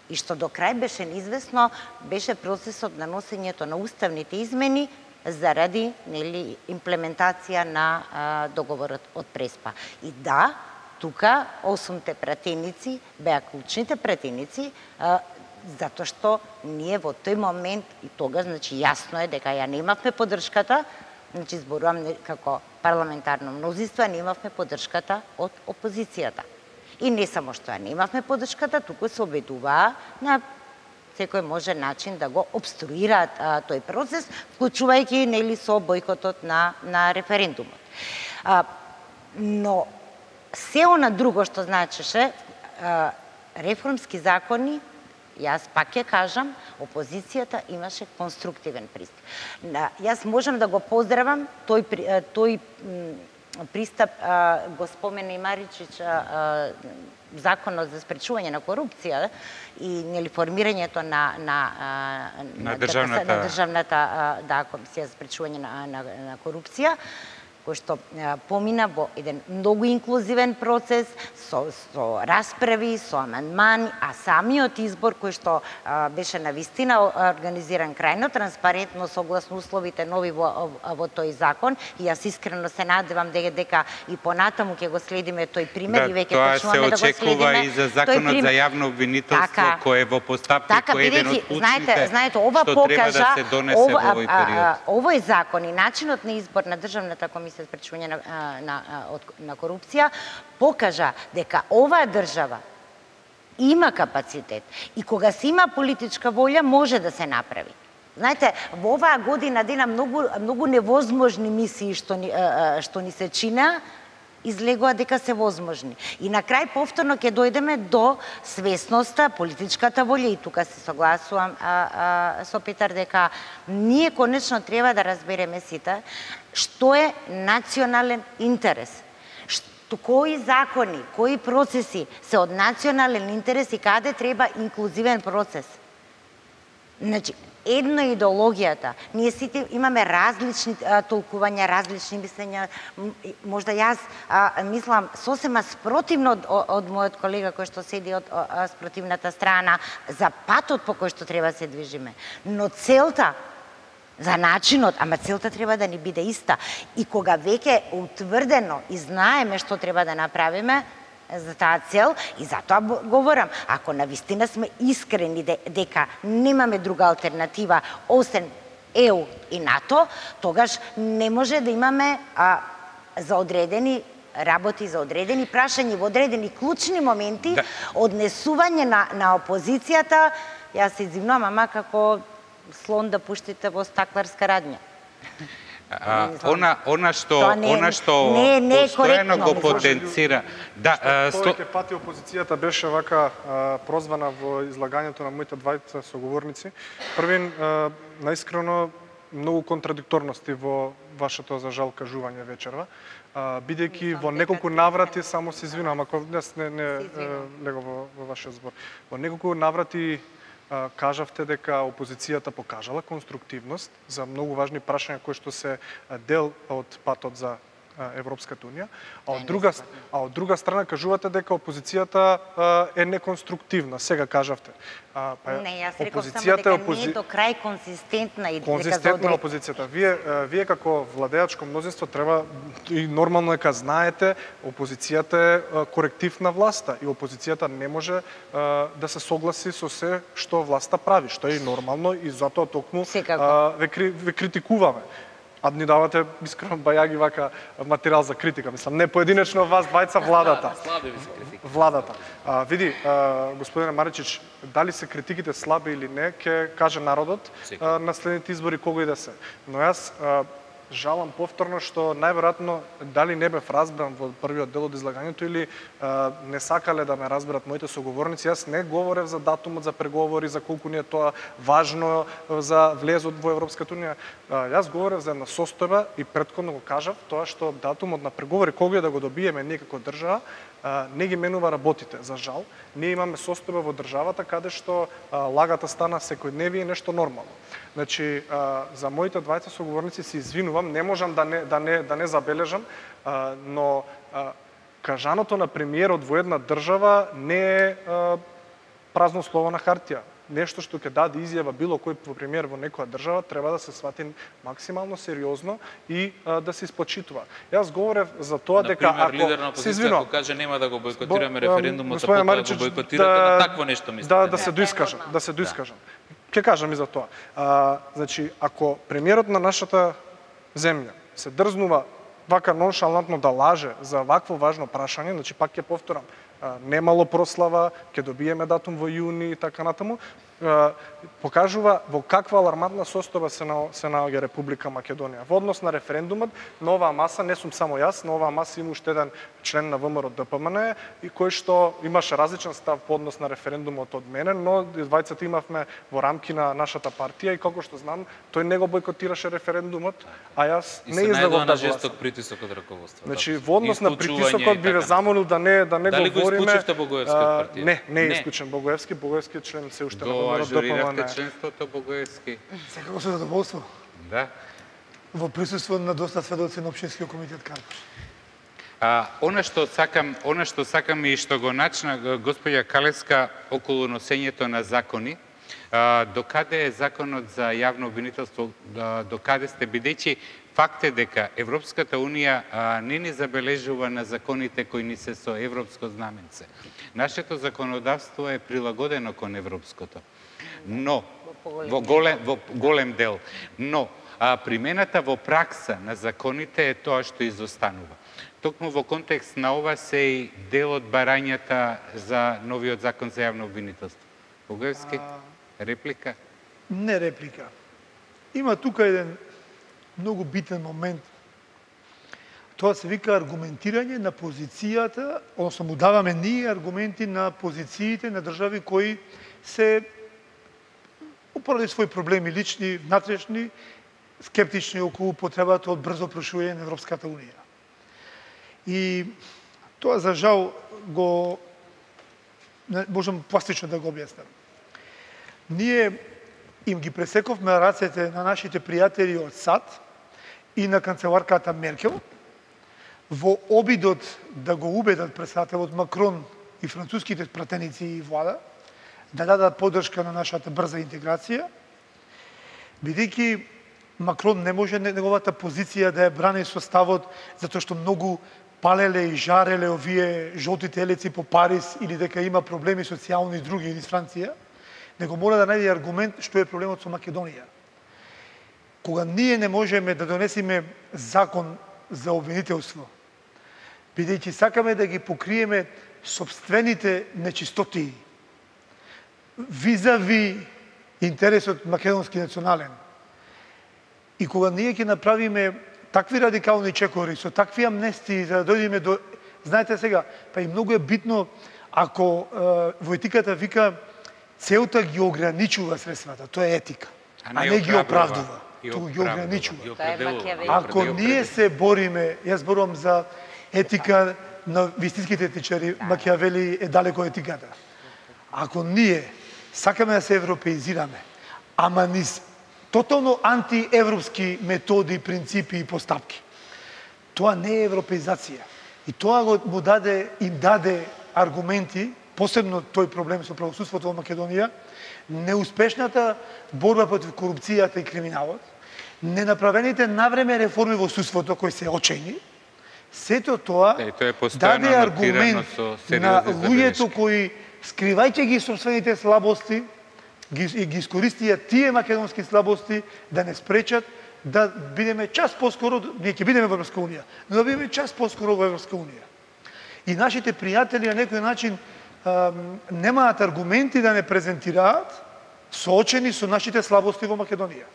и што до крај беше неизвестно, беше процесот на носењето на уставните измени заради имплементација на договорот од Преспа. И да, тука 8-те пратеници беа клучните пратеници, затоа што ние во тој момент и тогаш, значи јасно е дека ја немавме поддршката, значи зборувам како парламентарно мнозинство, немавме поддршката од опозицијата. И не само што ја немавме поддршката, туку се обидуваа на секој можен начин да го обструираат тој процес, вклучувајќи со бојкотот на референдумот. Но се она друго што значеше реформски закони, јас пак ќе кажам, опозицијата имаше конструктивен пристап. Јас можам да го поздравам тој пристап, го спомена и Маричич, законот за спречување на корупција и формирањето на државната комисија за спречување на корупција, кој што помина во еден многу инклузивен процес, со расправи, со амандмани, а самиот избор кој што беше навистина организиран крајно транспарентно согласно условите нови во тој закон, и јас искрено се надевам дека и понатаму ќе го следиме тој пример и веќе почнуваме да го следиме.
Тоа се очекува и за законот за јавно обвинителство кој е во постапки, кој е еден од клучните што треба да се донесе во овој период.
Овој закон и начинот на избор на државната комисија за спречување на корупција покажа дека оваа држава има капацитет и кога се има политичка волја може да се направи. Знаете, во оваа година дена многу невозможни мисии што ни се чина, излегува дека се возможни. И на крај повторно ќе дојдеме до свесноста, политичката волја, и тука се согласувам со Петар дека ние конечно треба да разбереме сите што е национален интерес. Кои закони, кои процеси се од национален интерес и каде треба инклузивен процес. Значи, едно е идеологијата. Ние сите имаме различни толкувања, различни мислења. Можда јас мислам сосема спротивно од мојот колега кој што седи од спротивната страна за патот по кој што треба се движиме. Но целта, за начинот, ама целта треба да ни биде иста. И кога веќе утврдено и знаеме што треба да направиме, за таа цел и затоа говорам, ако навистина сме искрени дека немаме друга алтернатива освен ЕУ и НАТО, тогаш не може да имаме за одредени работи, за одредени прашања, во одредени клучни моменти, однесување на опозицијата, јас се извинувам, ама како слон да пуштите во стакларска радња.
Она што постојано го потенцира.
Повеќе пати опозицијата беше вака прозвана во излагањето на моите двајца соговорници. Првин, наискрено, многу контрадикторности во вашето, за жал, кажување вечерва. Бидејќи во неколку наврати, само се извинувам, ако днес не лего во вашиот збор, во неколку наврати кажавте дека опозицијата покажала конструктивност за многу важни прашања кои што се дел од патот за Европската унија, а од друга страна кажувате дека опозицијата е неконструктивна. Сега кажавте.
Не, јас реков само дека не е до крај консистентна и
конзистентна опозицијата. Вие како владеачко мнозинство треба и нормално дека знаете, опозицијата е коректив на власта и опозицијата не може да се согласи со се што власта прави, што е и нормално и затоа токму ве критикуваме. А ни давате искрено бајаги вака материјал за критика. Мислам, не поединечно вас двајца владата. Владата. Види, господине Маричич, дали се критиките слаби или не, ќе каже народот на следните избори кога и да се. Но јас жалам повторно што најверојатно дали не бев разбран во првиот дел од излагањето или не сакале да ме разберат моите соговорници. Јас не говорев за датумот за преговори, за колку ни е тоа важно за влезот во Европската унија. Јас говорев за една состојба и претходно го кажав тоа што датумот на преговори кога да го добиеме ние како држава не ги менува работите. За жал, ние имаме состојба во државата каде што лагата стана секојдневие нешто нормално. Значи, за моите двајца соговорници се извинувам, не можам да не забележам, но кажаното на премиерот во една држава не е празно слово на хартија. Нешто што ќе даде изјава било кој премиер во некоја држава треба да се свати максимално сериозно и да се испочитува. Јас говорев за тоа дека
ако лидер на опозицијата каже нема да го бойкотираме референдумот, а потоа го бойкотирате, на такво нешто мислите.
Да се доискажам. Ќе кажам и за тоа. Значи, ако премиерот на нашата земја се дрзнува вака ноншалантно да лаже за вакво важно прашање, значи пак ќе повторам, немало прослава, ќе добиеме датум во јуни и така натаму, покажува во каква алармантна состојба се наоѓа Република Македонија. Во однос на референдумот, на оваа маса, не сум само јас, на оваа маса има уште еден член на ВМРО ДПМН и кој што имаше различен став по однос на референдумот од мене, но двајцата имавме во рамки на нашата партија и како што знам, тој не го бойкотираше референдумот, а јас не излегов да
жесток притисок од раководството.
Значи, во однос на притисокот би ве замолил да не говориме.
Дали го исклучивте Богоевски од партија?
Не е исклучен Богоевски, Богоевски е член се уште на
ажурирахте членството Богоевски?
Секако со задоволство.
Да.
Во присуство на доста сведоци на Општинскиот комитет Карпуш.
Она што сакам и што го начна господја Калевска околу носењето на закони, докаде е законот за јавно обвинителство, докаде сте, бидејќи факт е дека Европската унија не ни забележува на законите кои ни се со европско знаменце. Нашето законодавство е прилагодено кон европското, но во голем дел. Но примената во пракса на законите е тоа што изостанува. Токму во контекст на ова се и дел од барањата за новиот закон за јавно обвинителство. Богоевски, реплика?
Не реплика. Има тука еден многу битен момент. Тоа се вика аргументирање на позицијата, односно му даваме ние аргументи на позициите на држави кои се поради своји проблеми лични, внатрешни, скептични околу потребата од брзо прошување на Европската унија. И тоа за жал го можам пластично да го објаснам. Ние им ги пресековме рацете на нашите пријатели од САД и на канцеларката Меркел во обидот да го убедат председателот Макрон и француските пратеници и влада да дадат поддршка на нашата брза интеграција, бидејќи Макрон не може неговата позиција да ја брани со ставот затоа што многу палеле и жареле овие жолти телеци по Париз или дека има проблеми социјални и други или с Франција, него мора да најде аргумент што е проблемот со Македонија. Кога ние не можеме да донесеме закон за обвинителство, бидејќи сакаме да ги покриеме собствените нечистотии, визави интересот македонски национален. И кога ние ќе направиме такви радикални чекори, со такви амнестии, за да дојдеме до... Знаете сега, па и многу е битно, ако во етиката вика целта ги ограничува средствата, тоа е етика, а не ги оправдува, туку ги ограничува. Ако ние се бориме, јас зборувам за етика на вистинските етичари, Макијавели е далеко етиката. Ако ние сакаме да се европеизираме, ама низ тотално антиевропски методи, принципи и постапки, тоа не е европеизација. И тоа им даде аргументи, посебно тој проблем со правосудството во Македонија, неуспешната борба против корупцијата и криминалот, ненаправените навреме реформи во судството кои се очени, сето тоа даде аргумент на луѓето кои, скривајќи ги собствените слабости, ги искористија тие македонски слабости да не спречат да бидеме час поскоро, ние ќе бидеме во Европска унија, но да бидеме час поскоро во Европска унија. И нашите пријатели на некој начин немаат аргументи да не презентираат соочени со нашите слабости во Македонија.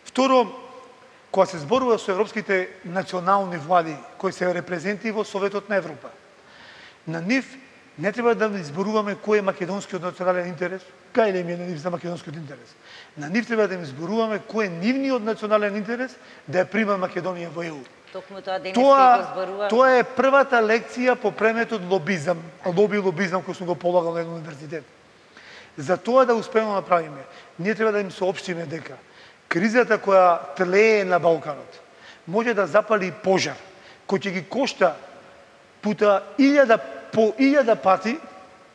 Второ, кога се зборува со европските национални влади кои се репрезенти во Советот на Европа, на нив не треба да изборуваме кој е македонскиот национален интерес, кај им е на нив за македонскиот интерес. На нив треба да им изборуваме кој е нивниот национален интерес да ја прима Македонија во ЕУ. Тоа е првата лекција по преметот лобизам, лобизам кој сум го полагал на еден универзитет. За тоа да успееме да направиме, ние треба да им соопштиме дека кризата која тлее на Балканот може да запали пожар кој ќе ги кошта пута по 1000 пати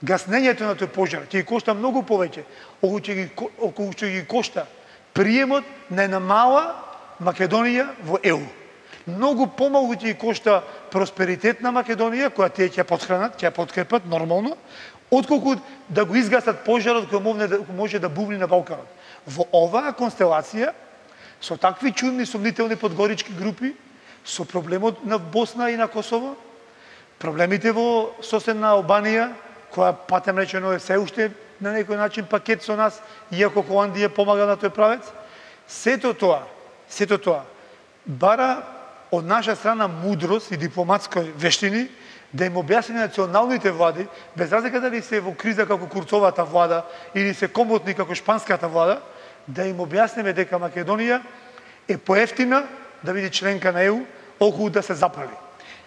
гаснењето на тој пожар, ќе ги кошта многу повеќе, околу ќе ги кошта приемот на една мала Македонија во ЕУ. Многу помалку ќе ги кошта просперитет на Македонија, која тие ќе подхранат, ќе ја подкрепат нормално, отколку да го изгасат пожарот кој може да бувни на Балканот. Во оваа констелација, со такви чудни сомнителни подгорички групи, со проблемот на Босна и на Косово, проблемите во соседна Албанија, која патем речено е се уште на некој начин пакет со нас, иако Холандија помага на тој правец, сето тоа бара од наша страна мудрост и дипломатска вештини да им објасни националните влади, без разлика дали се во криза како Курцовата влада или се комотни како шпанската влада, да им објасниме дека Македонија е поевтина да биде членка на ЕУ, околу да се запали.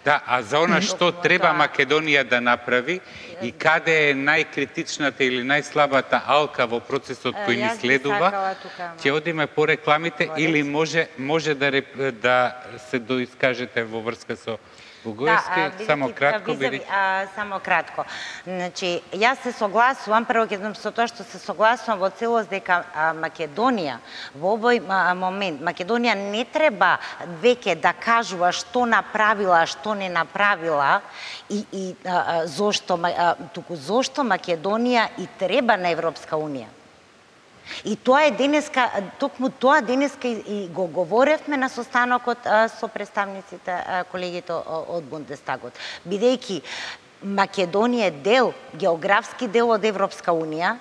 Да, а за она што треба Македонија да направи и каде е најкритичната или најслабата алка во процесот кој ни следува, ќе одиме по рекламите или може да се доискажете во врска со Бугојски, само кратко
само кратко. Значи, јас се согласувам, прво ќе со тоа што се согласувам во целост дека Македонија во овој момент, Македонија не треба веќе да кажува што направила, што не направила и зошто, туку зошто Македонија и треба на Европска унија. И тоа е денеска, токму тоа денеска и го говоревме на состанокот со представниците, колегите од Бундестагот. Бидејќи Македонија е дел, географски дел од Европска унија,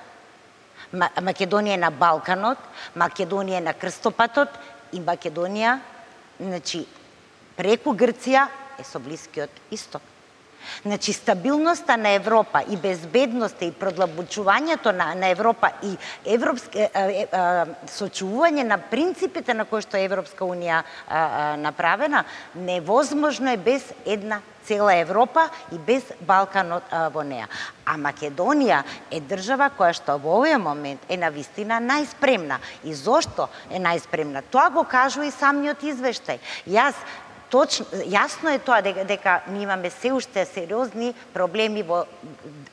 Македонија е на Балканот, Македонија е на крстопатот и Македонија, значи, преку Грција е со Блискиот Исток. Значи, стабилноста на Европа и безбедноста и продлабочувањето на Европа и сочувување на принципите на кои што Европска унија направена, невозможно е без една цела Европа и без Балканот во неа. А Македонија е држава која што во овој момент е навистина најспремна. И зошто е најспремна? Тоа го кажува и самиот извештај. Јас точно, јасно е тоа дека ние имаме се уште сериозни проблеми во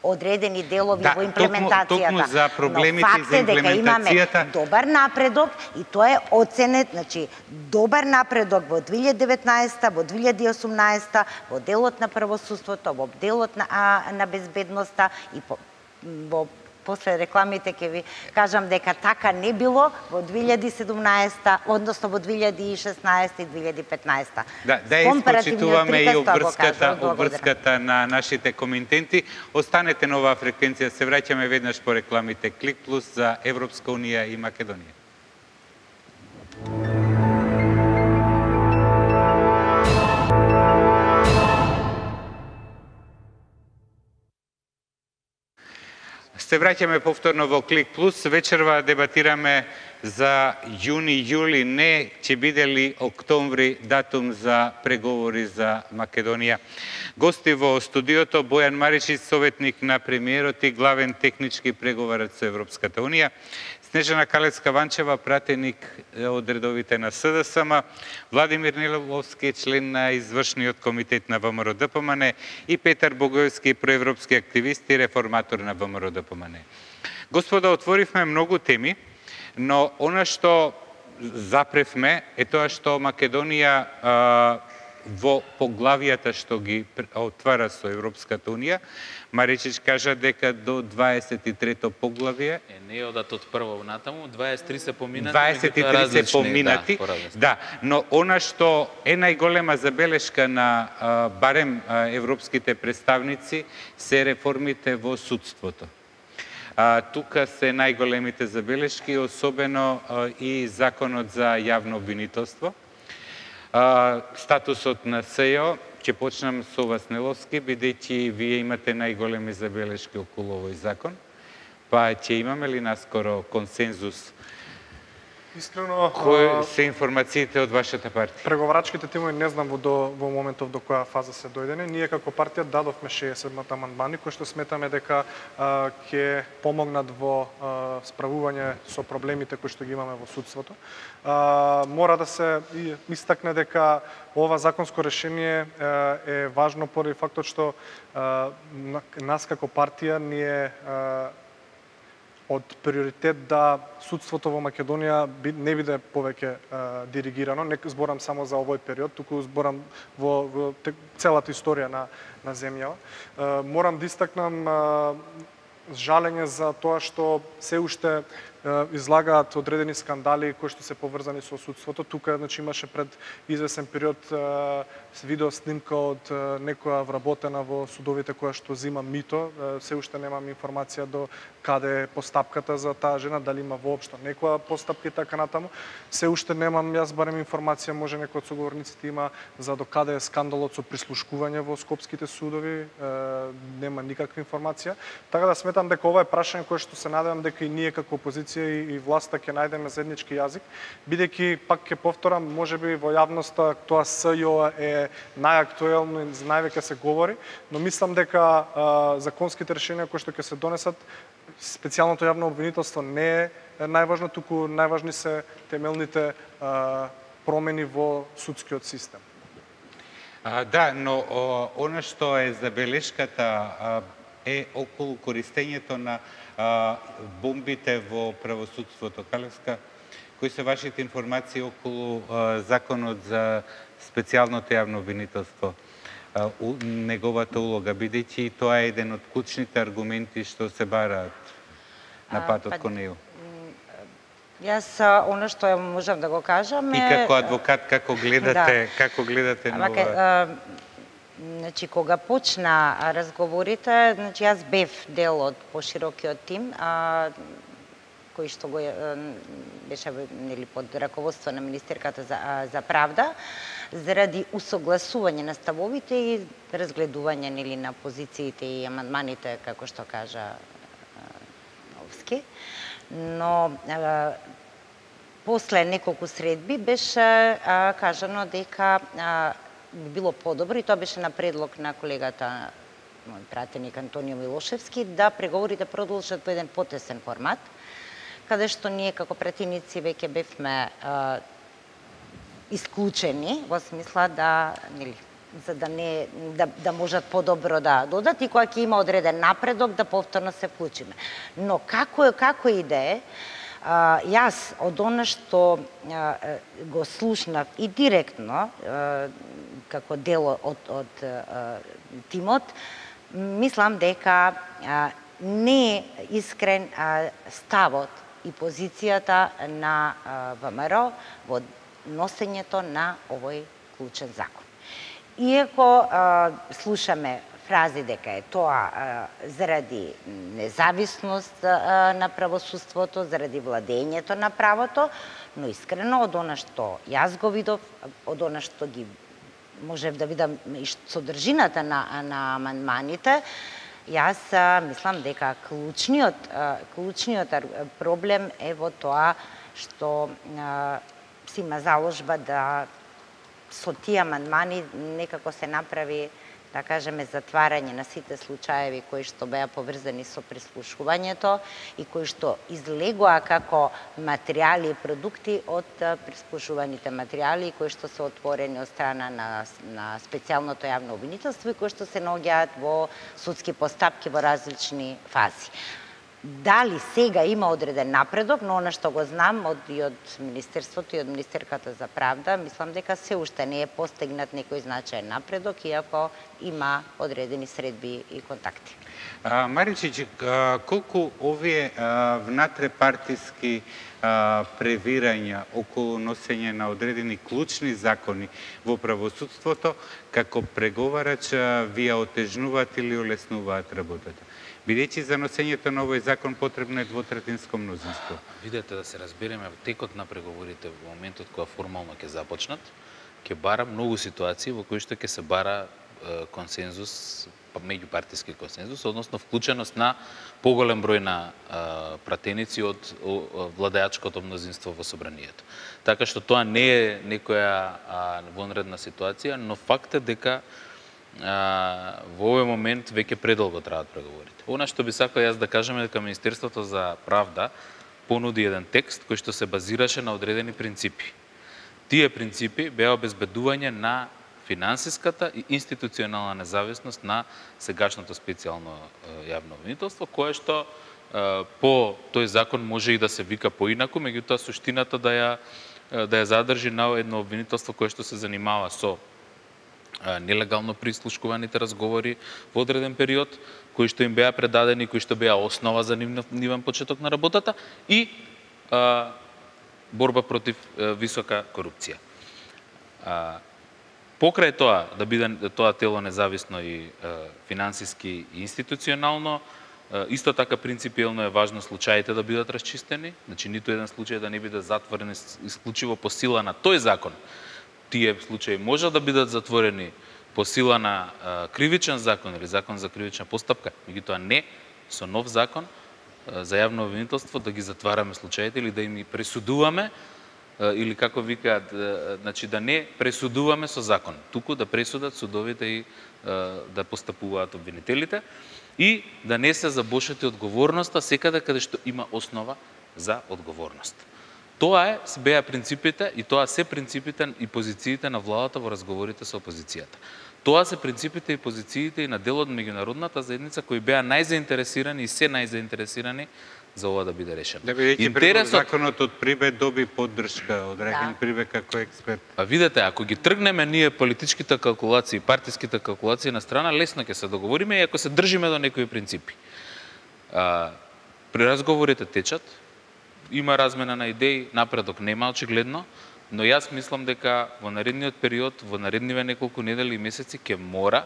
одредени делови во имплементацијата.
Токму за проблемите
но
за имплементацијата.
Имаме добар напредок и тоа е оценет, значи добар напредок во 2019, во 2018, во делот на правосудството, во делот на безбедноста и во после рекламите ќе ви кажам дека така не било во 2017, односно во 2016 и 2015.
Да испочитуваме и обврската на нашите коментенти. Останете на оваа фреквенција, се враќаме веднаш по рекламите Клик Плюс за Европска Унија и Македонија. Се враќаме повторно во Клик Плюс. Вечерва дебатираме за јуни, јули, не ќе биде ли октомври датум за преговори за Македонија. Гости во студиото Бојан Маричич, советник на премиерот и главен технички преговарач со Европската Унија, Снежана Калевска-Ванчева, пратеник од редовите на СДСМ, Владимир Неловски, член на извршниот комитет на ВМРО-ДПМН и Петар Богоевски, проевропски активист и реформатор на ВМРО-ДПМН. Господа, отворивме многу теми, но она што запревме е тоа што Македонија во поглавијата што ги отвара со Европската Унија, Маричич кажа дека до 23-то поглавие
не одат од прво натаму, 23 се поминати,
23 се поминати. Да, но она што е најголема забелешка на барем европските представници се реформите во судството. Тука се најголемите забелешки, особено и законот за јавно обвинителство. Статусот на СЈО, ќе почнам со вас, Неловски, бидејќи вие имате најголеми забелешки околу овој закон, па ќе имаме ли наскоро консензус?
Искрено,
кои се информациите од вашата партија?
Преговарачките тимови не знам во моментов до која фаза се дојдене. Ние како партија дадовме 60 амандмани кои што сметаме дека ќе помогнат во справување со проблемите кои што ги имаме во судството. Мора да се истакне дека ова законско решение е важно поради фактот што нас како партија ние од приоритет да судството во Македонија не биде повеќе диригирано. Не зборам само за овој период, туку зборам во целата историја на земјава. Морам да истакнам жалење за тоа што се уште излагаат одредени скандали кои што се поврзани со судството. Тука значи имаше пред извесен период видео снимка од некоја вработена во судовите која што зима мито. Се уште немам информација до каде е постапката за таа жена, дали има воопшто некоја постапка и така натаму. Се уште немам јас барем информација, може некој од соговорниците има за до каде е скандалот со прислушкување во скопските судови. Нема никаква информација. Така да сметам дека ова е прашање кое што се надевам дека и ние како опозиција и власта ќе најдеме заеднички јазик, бидејќи пак ќе повторам, можеби во јавноста тоа СЈО е најактуелно и највеќе се говори, но мислам дека законските решенија кои што ќе се донесат, специјалното јавно обвинителство не е најважно, туку најважни се темелните промени во судскиот систем.
Да, но она што е забелешката е околу користењето на бомбите во правосудството. Калевска, кои се вашите информации околу законот за специјалното јавно обвинителство, неговата улога, бидејќи тоа е еден од клучните аргументи што се бараат на патот кон него?
Јас оно што можам да го кажам е...
И како адвокат, како гледате на ова?
Значи, кога почна разговорите, значи јас бев дел од поширокиот тим, кој што го беше нели под раководство на министерката за правда, заради усогласување на ставовите и разгледување нели на позициите и амандманите, како што кажа Новски. Но после неколку средби беше кажано дека би било подобро, и тоа беше на предлог на колегата, мој пратеник Антонио Милошевски, да преговорите продолжат во еден потесен формат, каде што ние како пратеници веќе бевме исклучени во смисла да, нели, за да не да можат подобро да додат и кога ќе има одреден напредок да повторно се вклучиме. Но како и да е, јас од она што го слушнав и директно како дел од тимот, мислам дека не е искрен ставот и позицијата на ВМРО во носењето на овој клучен закон. Иако слушаме фрази дека е тоа заради независност на правосудството, заради владењето на правото, но искрено од она што јас го видов, од она што ги можев да видам и содржината на амандманите, јас мислам дека клучниот проблем е во тоа што си има заложба да со тие амандмани некако се направи, да кажеме, затварање на сите случаеви кои што беа поврзани со прислушувањето и кои што излегоа како материјали и продукти од прислушуваните материјали кои што се отворени од страна на специјалното јавно обвинителство и кои што се наоѓаат во судски постапки во различни фази. Дали сега има одреден напредок, но она што го знам и од Министерството и од Министерката за правда, мислам дека се уште не е постигнат некој значаен напредок, иако има одредени средби и контакти.
Маричич, колку овие внатрепартиски превирања околу носење на одредени клучни закони во правосудството, како преговарач ви ја отежнуваат или олеснуваат работата? Бидејќи за носењето на овој закон потребно е двотретинско мнозинство.
Видете, да се разбереме, текот на преговорите во моментот кога формално ќе започнат, ќе бара многу ситуации во кои што ќе се бара консензус, меѓупартиски консензус, односно вклученост на поголем број на пратеници од владеачкото мнозинство во собранието. Така што тоа не е некоја вонредна ситуација, но факт е дека во овој момент веќе предолго траат преговорите. Она што би сакал јас да кажам е дека Министерството за правда понуди еден текст кој што се базираше на одредени принципи. Тие принципи беа обезбедување на финансиската и институционална независност на сегашното специјално јавно обвинителство, кое што по тој закон може и да се вика поинаку, меѓутоа суштината да ја задржи на едно обвинителство кое што се занимава со нелегално прислушкуваните разговори во одреден период, кои што им беа предадени, кои што беа основа за нивен почеток на работата и борба против висока корупција. Покрај тоа, да биде тоа тело независно и финансиски и институционално, исто така принципиелно е важно случаите да бидат расчистени, значи ниту еден случај да не биде затворен исклучиво по сила на тој закон. Тие случаи може да бидат затворени по сила на кривичен закон или закон за кривична постапка, меѓутоа не со нов закон за јавно обвинителство да ги затвараме случаите или да им пресудуваме, или како викаат, значи да не пресудуваме со закон, туку да пресудат судовите и да постапуваат обвинителите и да не се забошати одговорноста секаде каде што има основа за одговорност. Тоа беа принципите и тоа се принципите и позициите на владата во разговорите со опозицијата. Тоа се принципите и позициите и на дел од меѓународната заедница кои беа најзаинтересирани и се најзаинтересирани за ова да биде решено.
Да бидејќи законот од Прибе доби поддршка од Рахин Прибе како експерт.
А видете, ако ги тргнеме ние политичките калкулации, партиските калкулации на страна, лесно ќе се договориме и ако се држиме до некои принципи. При разговорите течат, има размена на идеи, напредок нема очигледно, но јас мислам дека во наредниот период, во наредниве неколку недели и месеци ќе мора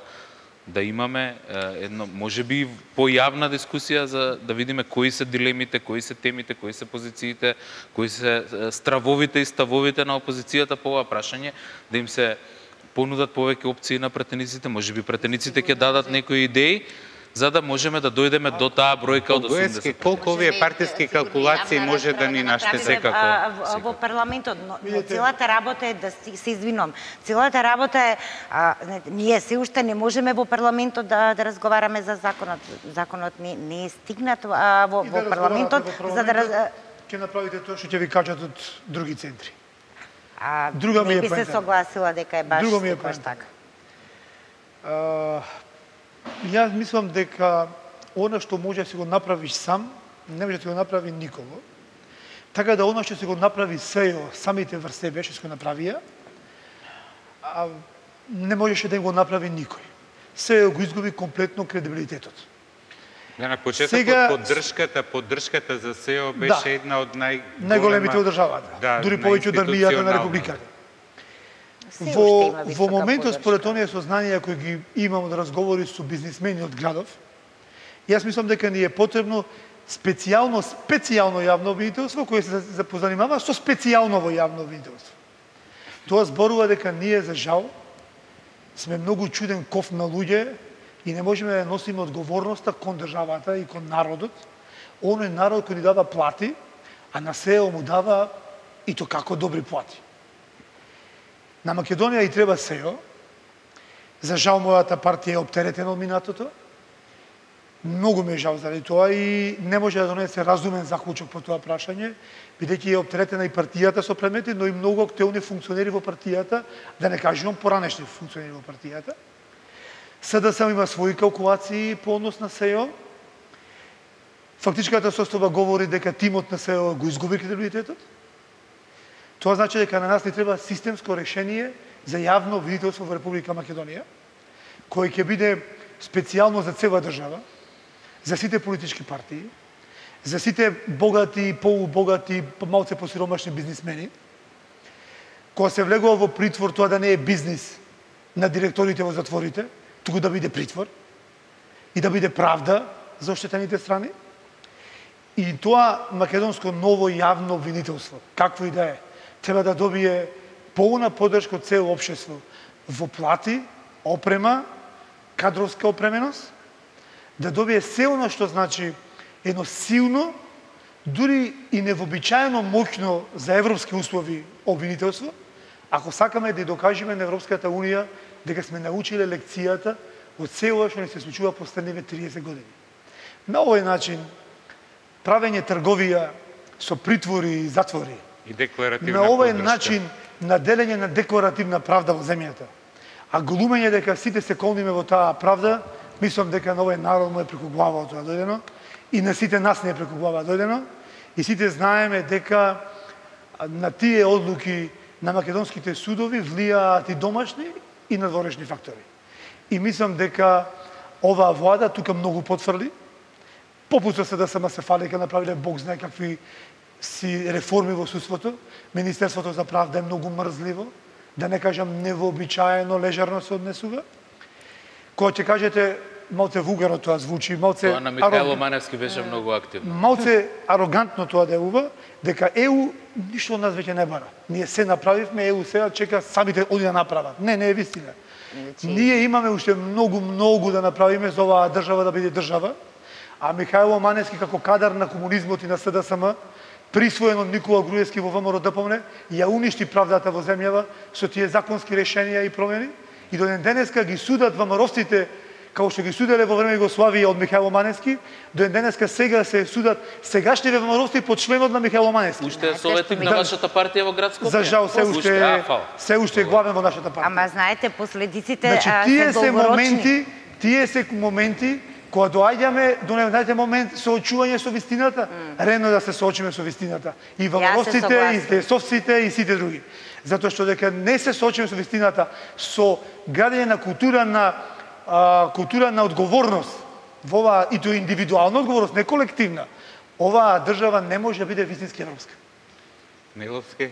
да имаме едно, можеби појавна дискусија за да видиме кои се дилемите, кои се темите, кои се позициите, кои се стравовите и ставовите на опозицијата по ова прашање, да им се понудат повеќе опции на пратениците, можеби пратениците ќе дадат некои идеи, за да можеме да дојдеме до таа бројка од 80%.
Колку овие партиски калкулации може да ни наштете
во парламентот, но целата работа е да се извинувам. Целата работа е ние се уште не можеме во парламентот да разговараме за законот. Законот не е стигнат во парламентот за да
ќе направите тоа што ќе ви кажат од други центри. Друга ми
не
е
би се
поентата.
согласила дека е баш
Друга ми е
секогаш
поентата.
така.
Јас мислам дека она што може да си го направиш сам, не може да ти го направи никого. Така да она што си го направи СЕО, самите врз себе што си го направија, не можеше да им го направи никој. СЕО го изгуби комплетно кредибилитетот.
Да, на почетокот
Сега-
поддршката за СЕО беше една од
најголемите од државата,
Да,
дури повеќе од армијата на
најинституционална.
републиката.
Се уште има
Во
висока
моментот,
поддршка.
според оние сознанија кои ги имам од разговори со бизнисмени од градов, јас мислам дека ни е потребно специјално јавно обвинителство кое се позанимава со специјалново јавно обвинителство. Тоа зборува дека ние, за жал, сме многу чуден ков на луѓе и не можеме да носиме одговорноста кон државата и кон народот. Оној народ кој ни дава плати, а на СЕО му дава и то како добри плати. На Македонија и треба СЕО. За жал, мојата партија е оптеретена од минатото. Многу ми е жал заради тоа и не може да донесе разумен заклучок по тоа прашање, бидејќи е оптеретена и партијата со предмети, но и многу активни функционери во партијата, да не кажувам поранешни функционери во партијата. СДСМ има своји калкулации по однос на СЕО. Фактичката состојба говори дека тимот на СЕО го изгуби кредибилитетот. Тоа значи дека на нас ни треба системско решение за јавно обвинителство во Република Македонија, кој ќе биде специјално за цела држава, за сите политички партии, за сите богати, полубогати, малце посиромашни бизнисмени. Кога се влегува во притвор, тоа да не е бизнис на директорите во затворите, туку да биде притвор и да биде правда за оштетените страни. И тоа македонско ново јавно обвинителство, какво и да е, треба да добие полна поддршка од цело општество во плати, опрема, кадровска опременост, да добие се оно што значи едно силно, дури и невообичаено моќно за европски услови обвинителство, ако сакаме да докажеме на Европската Унија дека сме научиле лекцијата од цело што ни се случува последниве 30 години. На овој начин, правење трговија со притвори и затвори,
И декларативна
на овој
поддршка.
начин на делење на декларативна правда во земјата, а глумење дека сите се колниме во таа правда, мислам дека на овој народ му е преку глава тоа дојдено и на сите нас не е преку глава дојдено и сите знаеме дека на тие одлуки на македонските судови влијаат и домашни и надворешни фактори. И мислам дека оваа влада тука многу потврди, попут со СДСМ се фали дека направиле Бог знае какви си реформи во судството. Министерството за правда е многу мрзливо, да не кажам невообичаено лежерно се однесува. Кога ќе кажете, малце вулгарно тоа звучи, малце
Тоа на Михајло Маневски беше многу активно.
малце арогантно тоа делува, дека ЕУ ништо од нас веќе не бара. Ние се направивме, ЕУ сега чека самите оди да направат. Не е вистина. Ние имаме уште многу да направиме за оваа држава да биде држава, а Михајло Маневски како кадар на комунизмот и на СДСМ, присвоен од Никола Груевски во ВМРО ДПМН, ја уништи правдата во земјава со тие законски решенија и промени, и до ден денеска ги судат ВМРО-вците како што ги суделе во време Југославија од Михајло Маневски, до ден денеска сега се судат сегашни ВМРО-вци под членот на Михајло Маневски.
Уште е советник на вашата партија во град Скопје.
За жал се уште е главен во нашата партија.
Ама знаете, последиците
Значи,
се долгорочни.
тие се моменти кога доаѓаме до најден момент соочување со вистината, редно да се соочиме со вистината. И ВМРО-вците, и ДСОВците, и сите други. Затоа што дека не се соочиме со вистината, со градење на култура на одговорност, во оваа и тоа индивидуална одговорност, не колективна, оваа држава не може да биде вистински европска.
Миловски?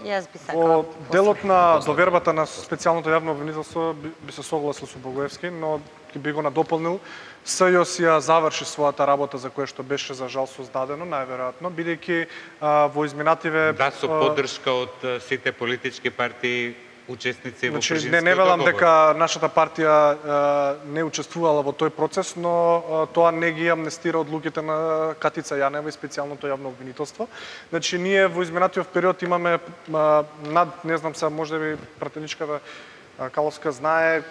Јас би сакала.
Во делот на довербата на специјалното јавно обвинителство би се согласил со Богоевски, но би го надополнил. СЈО ја заврши својата работа за која што беше за жал создадено, најверојатно, бидејќи во изминативе...
Да, со поддршка од сите политички партии учесници во
Значи,
Пржинскиот
не велам
договор.
дека нашата партија не учествувала во тој процес, но тоа не ги амнестира одлуките на Катица Јанева и специјалното јавно обвинителство. Значи, ние во изминатиот период имаме над, не знам се, можеби пратеничката Каловска знае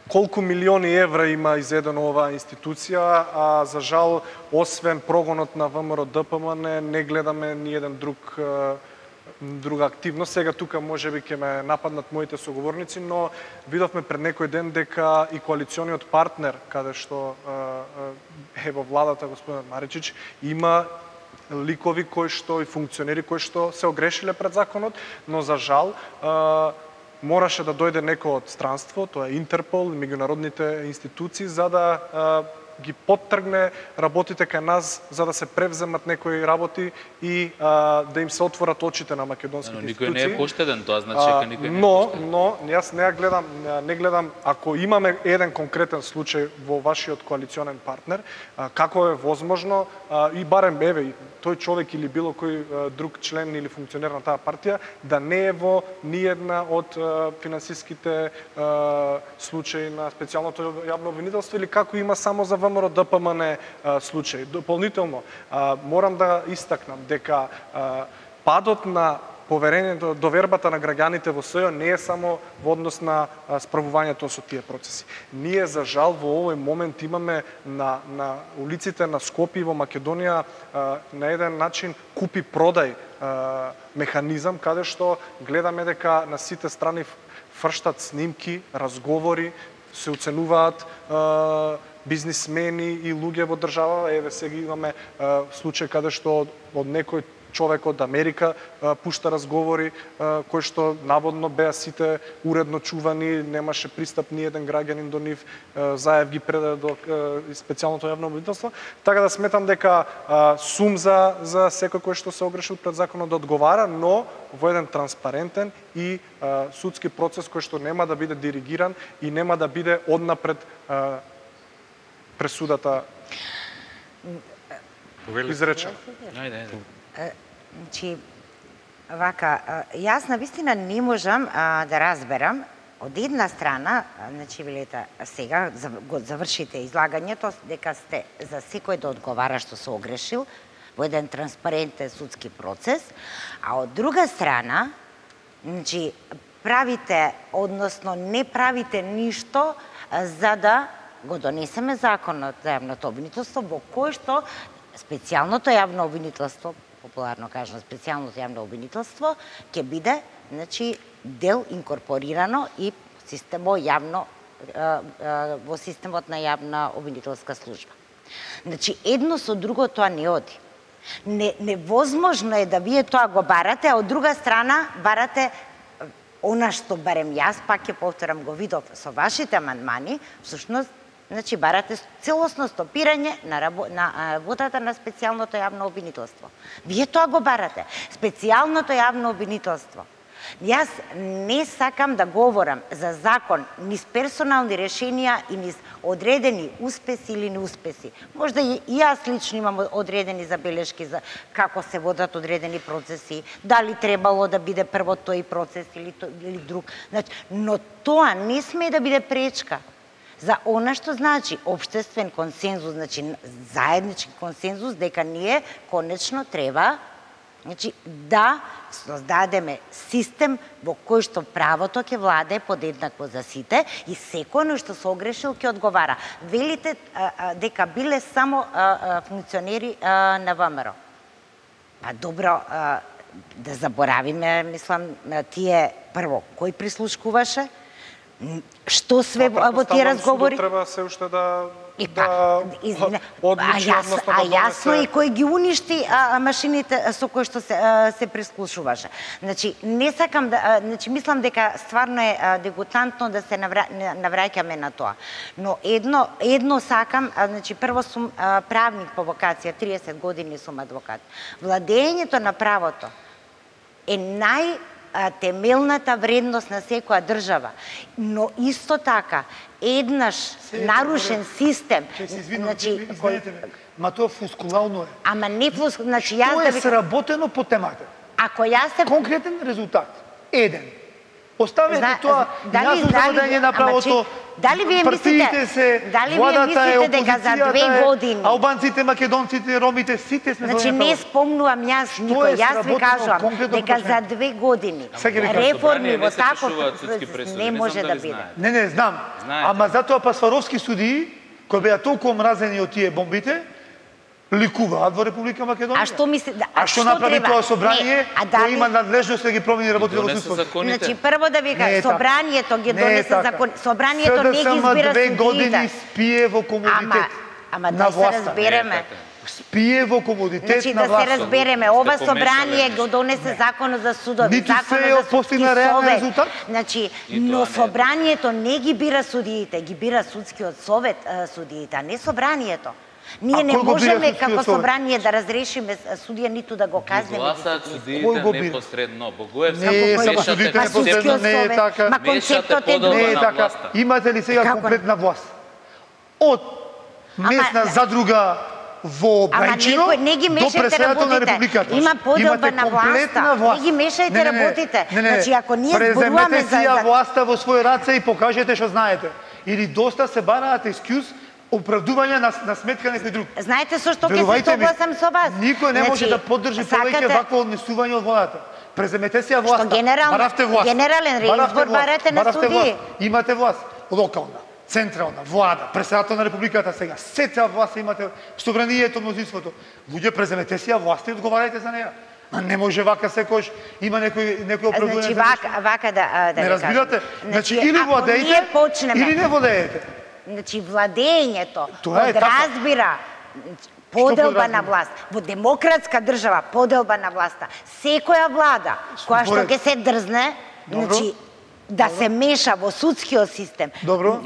колку милиони евра има изедено оваа институција, а за жал, освен прогонот на ВМРО ДПМН, не гледаме ни еден друг друга активност. Сега тука можеби ќе ме нападнат моите соговорници, но видовме пред некој ден дека и коалициониот партнер, каде што е во владата господин Маричич, има ликови кои што и функционери кои што се огрешиле пред законот, но за жал мораше да дојде некој од странство, тоа е Интерпол и меѓународните институции, за да ги поттргне работите кај нас, за да се превземат некои работи и да им се отворат очите на македонските институции.
Никој не е поштеден, тоа значи дека никој не е поштеден.
Но јас не гледам ако имаме еден конкретен случај во вашиот коалиционен партнер, како е возможно и барем тој човек или било кој друг член или функционер на таа партија да не е во ниедна од финансиските случаи на специјалното јавно обвинителство или како има само за ВМРО ДПМН случај. Дополнително морам да истакнам дека падот на поверењето, довербата на граѓаните во СЈО не е само во однос на справувањето со тие процеси. Ние, за жал, во овој момент имаме на улиците на Скопје и во Македонија на еден начин купи-продај механизам, каде што гледаме дека на сите страни фрштат снимки, разговори, се оценуваат бизнисмени и луѓе во држава. Еве сега имаме случај каде што од некој човек од Америка пушта разговори кои што наводно беа сите уредно чувани, немаше пристап ни еден граѓанин до нив, Заев ги предаде до специјалното јавно обвинителство. Така да сметам дека сум за секој кој што се огрешил пред законот да одговара, но во еден транспарентен и судски процес кој што нема да биде диригиран и нема да биде однапред пресудата изречена.
Значи, вака, јас навистина не можам да разберам од една страна, значи велете сега го завршите излагањето дека сте за секој да одговара што се огрешил во еден транспарентен судски процес, а од друга страна, значи правите, односно не правите ништо за да го донесеме законот за јавното обвинителство во кој што специјалното јавно обвинителство, популарно кажано специјалното јавно обвинителство, ќе биде, значи, дел инкорпорирано и во системот на јавна обвинителска служба. Значи, едно со друго тоа не оди. Невозможно е да вие тоа го барате, а од друга страна барате она што барем јас, пак ќе повторам, го видов со вашите амандмани, всушност, значи барате целосно стопирање на работата на специјалното јавно обвинителство. Вие тоа го барате. Специјалното јавно обвинителство. Јас не сакам да говорам за закон низ персонални решенија и низ одредени успеси или неуспеси. Можда и јас лично имам одредени забелешки за како се водат одредени процеси, дали требало да биде прво тој процес или друг. Значи, но тоа не сме да биде пречка за она што значи општествен консензус, значи заеднички консензус дека ние конечно треба, значи, да создадеме систем во кој што правото ќе владае подеднакво за сите и секој што се огрешил ќе одговара. Велите дека биле само функционери на ВМРО. Па добро, да заборавиме, мислам, тие прво кој прислушкуваше, што све во тие разговори?
Треба се уште да
јасно и кој ги уништи машините со кои што се прислушуваше. Значи, не сакам да, значи мислам дека стварно е дегутантно да се навраќаме на тоа. Но едно сакам, значи прво сум правник по вокација, 30 години сум адвокат. Владењето на правото е темелната вредност на секоја држава, но исто така еднаш нарушен систем,
значи ма тоа фускулално е.
Ама не фускулално, значи јас
да ви сработено по темата.
Ако јас се
конкретен резултат, еден. Оставете тоа јасно заведење на правото.
Дали вие мислите дека за 2 години
албанците, македонците, ромите, сите сме
значи не спомнувам јас никој, јас ви кажувам дека за 2 години реформи во таков не може да биде.
Не, знам. Ама затоа па Сваровски судии, кои беа толку омразени од тие бомбите, ликуваат во Република Македонија.
А што мисли?
А што направи тоа собрание? Кој има надлежност да ги промени работите во судството?
Значи прво да ви
Не е
кажам, собранието ги донесе закон, собранието не ги избира
СДСМ 2
судиите.
години спие во комодитет.
Ама
на
да се
власта.
разбереме.
Спие во комодитет
Значи
на
да се
власта.
разбереме, ова
Сте помешали
собрание
нешто.
го донесе законот за судови,
Ниту се
законот
е
за судски
постигна реален
совет.
резултат.
Значи,
И
но
тоа не е.
собранието не ги бира судиите, ги бира судскиот совет судиите, а не собранието. Ние не
кој го бира
можеме
судскиот
како
совет?
собрание да разрешиме судија ниту да го казнеме.
Гласаат
Кој
судиите
го бира?
непосредно. Богоевски,
Не,
Како
само
кој?
судиите
Па
непосредно
судскиот
не е
совет.
така.
Ма
Мешате
концептот е
подела
Не е
на
друг.
така.
власта.
Имате ли сега
Како?
комплетна власт? Од местна
Ама,
задруга во
Ама
Брајчино
не ги
до
мешајте
преседател на
работите.
Републиката.
Има поделба
Имате
на
комплетна
власта. Не ги мешајте работите. Значи, ако ние зборуваме
преземете
за-
си ја
за-
власта во своји раце и покажете што знаете. Или доста се бараат екскюз, оправдување на сметка некој друг.
Знаете со што ќе се
Верувајте ми,
согласам со вас?
никој не може
Значи,
да поддржи повеќе
сакате-
вакво однесување од владата. Преземете си ја власта. Баравте власт.
генерален
Баравте
реизбор
власт.
барате на
Баравте
судии.
власт. Имате власт. Локална, централна, влада, председател на Републиката сега. Сета власт имате, собранието, мнозинството. Луѓе, преземете си ја власт и одговарајте за неја. А не може вака секој има некој оправдување.
Значи
за нешто.
вака да
Не
ви
разбирате?
кажам.
Значи или
ако
владеете,
ние почнеме,
или не владеете.
Значи владењето
Тоа е така.
подразбира поделба
подразбира?
на власт. Во демократска држава поделба на власта. Секоја влада која што
Според-
ќе се дрзне,
Добро.
значи да се меша во судскиот систем.
Добро.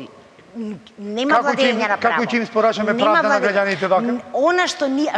Нема
Како ќе им-
владење на право.
како ќе им испорачаме
Нема
правда на
владење.
граѓаните вака?
Она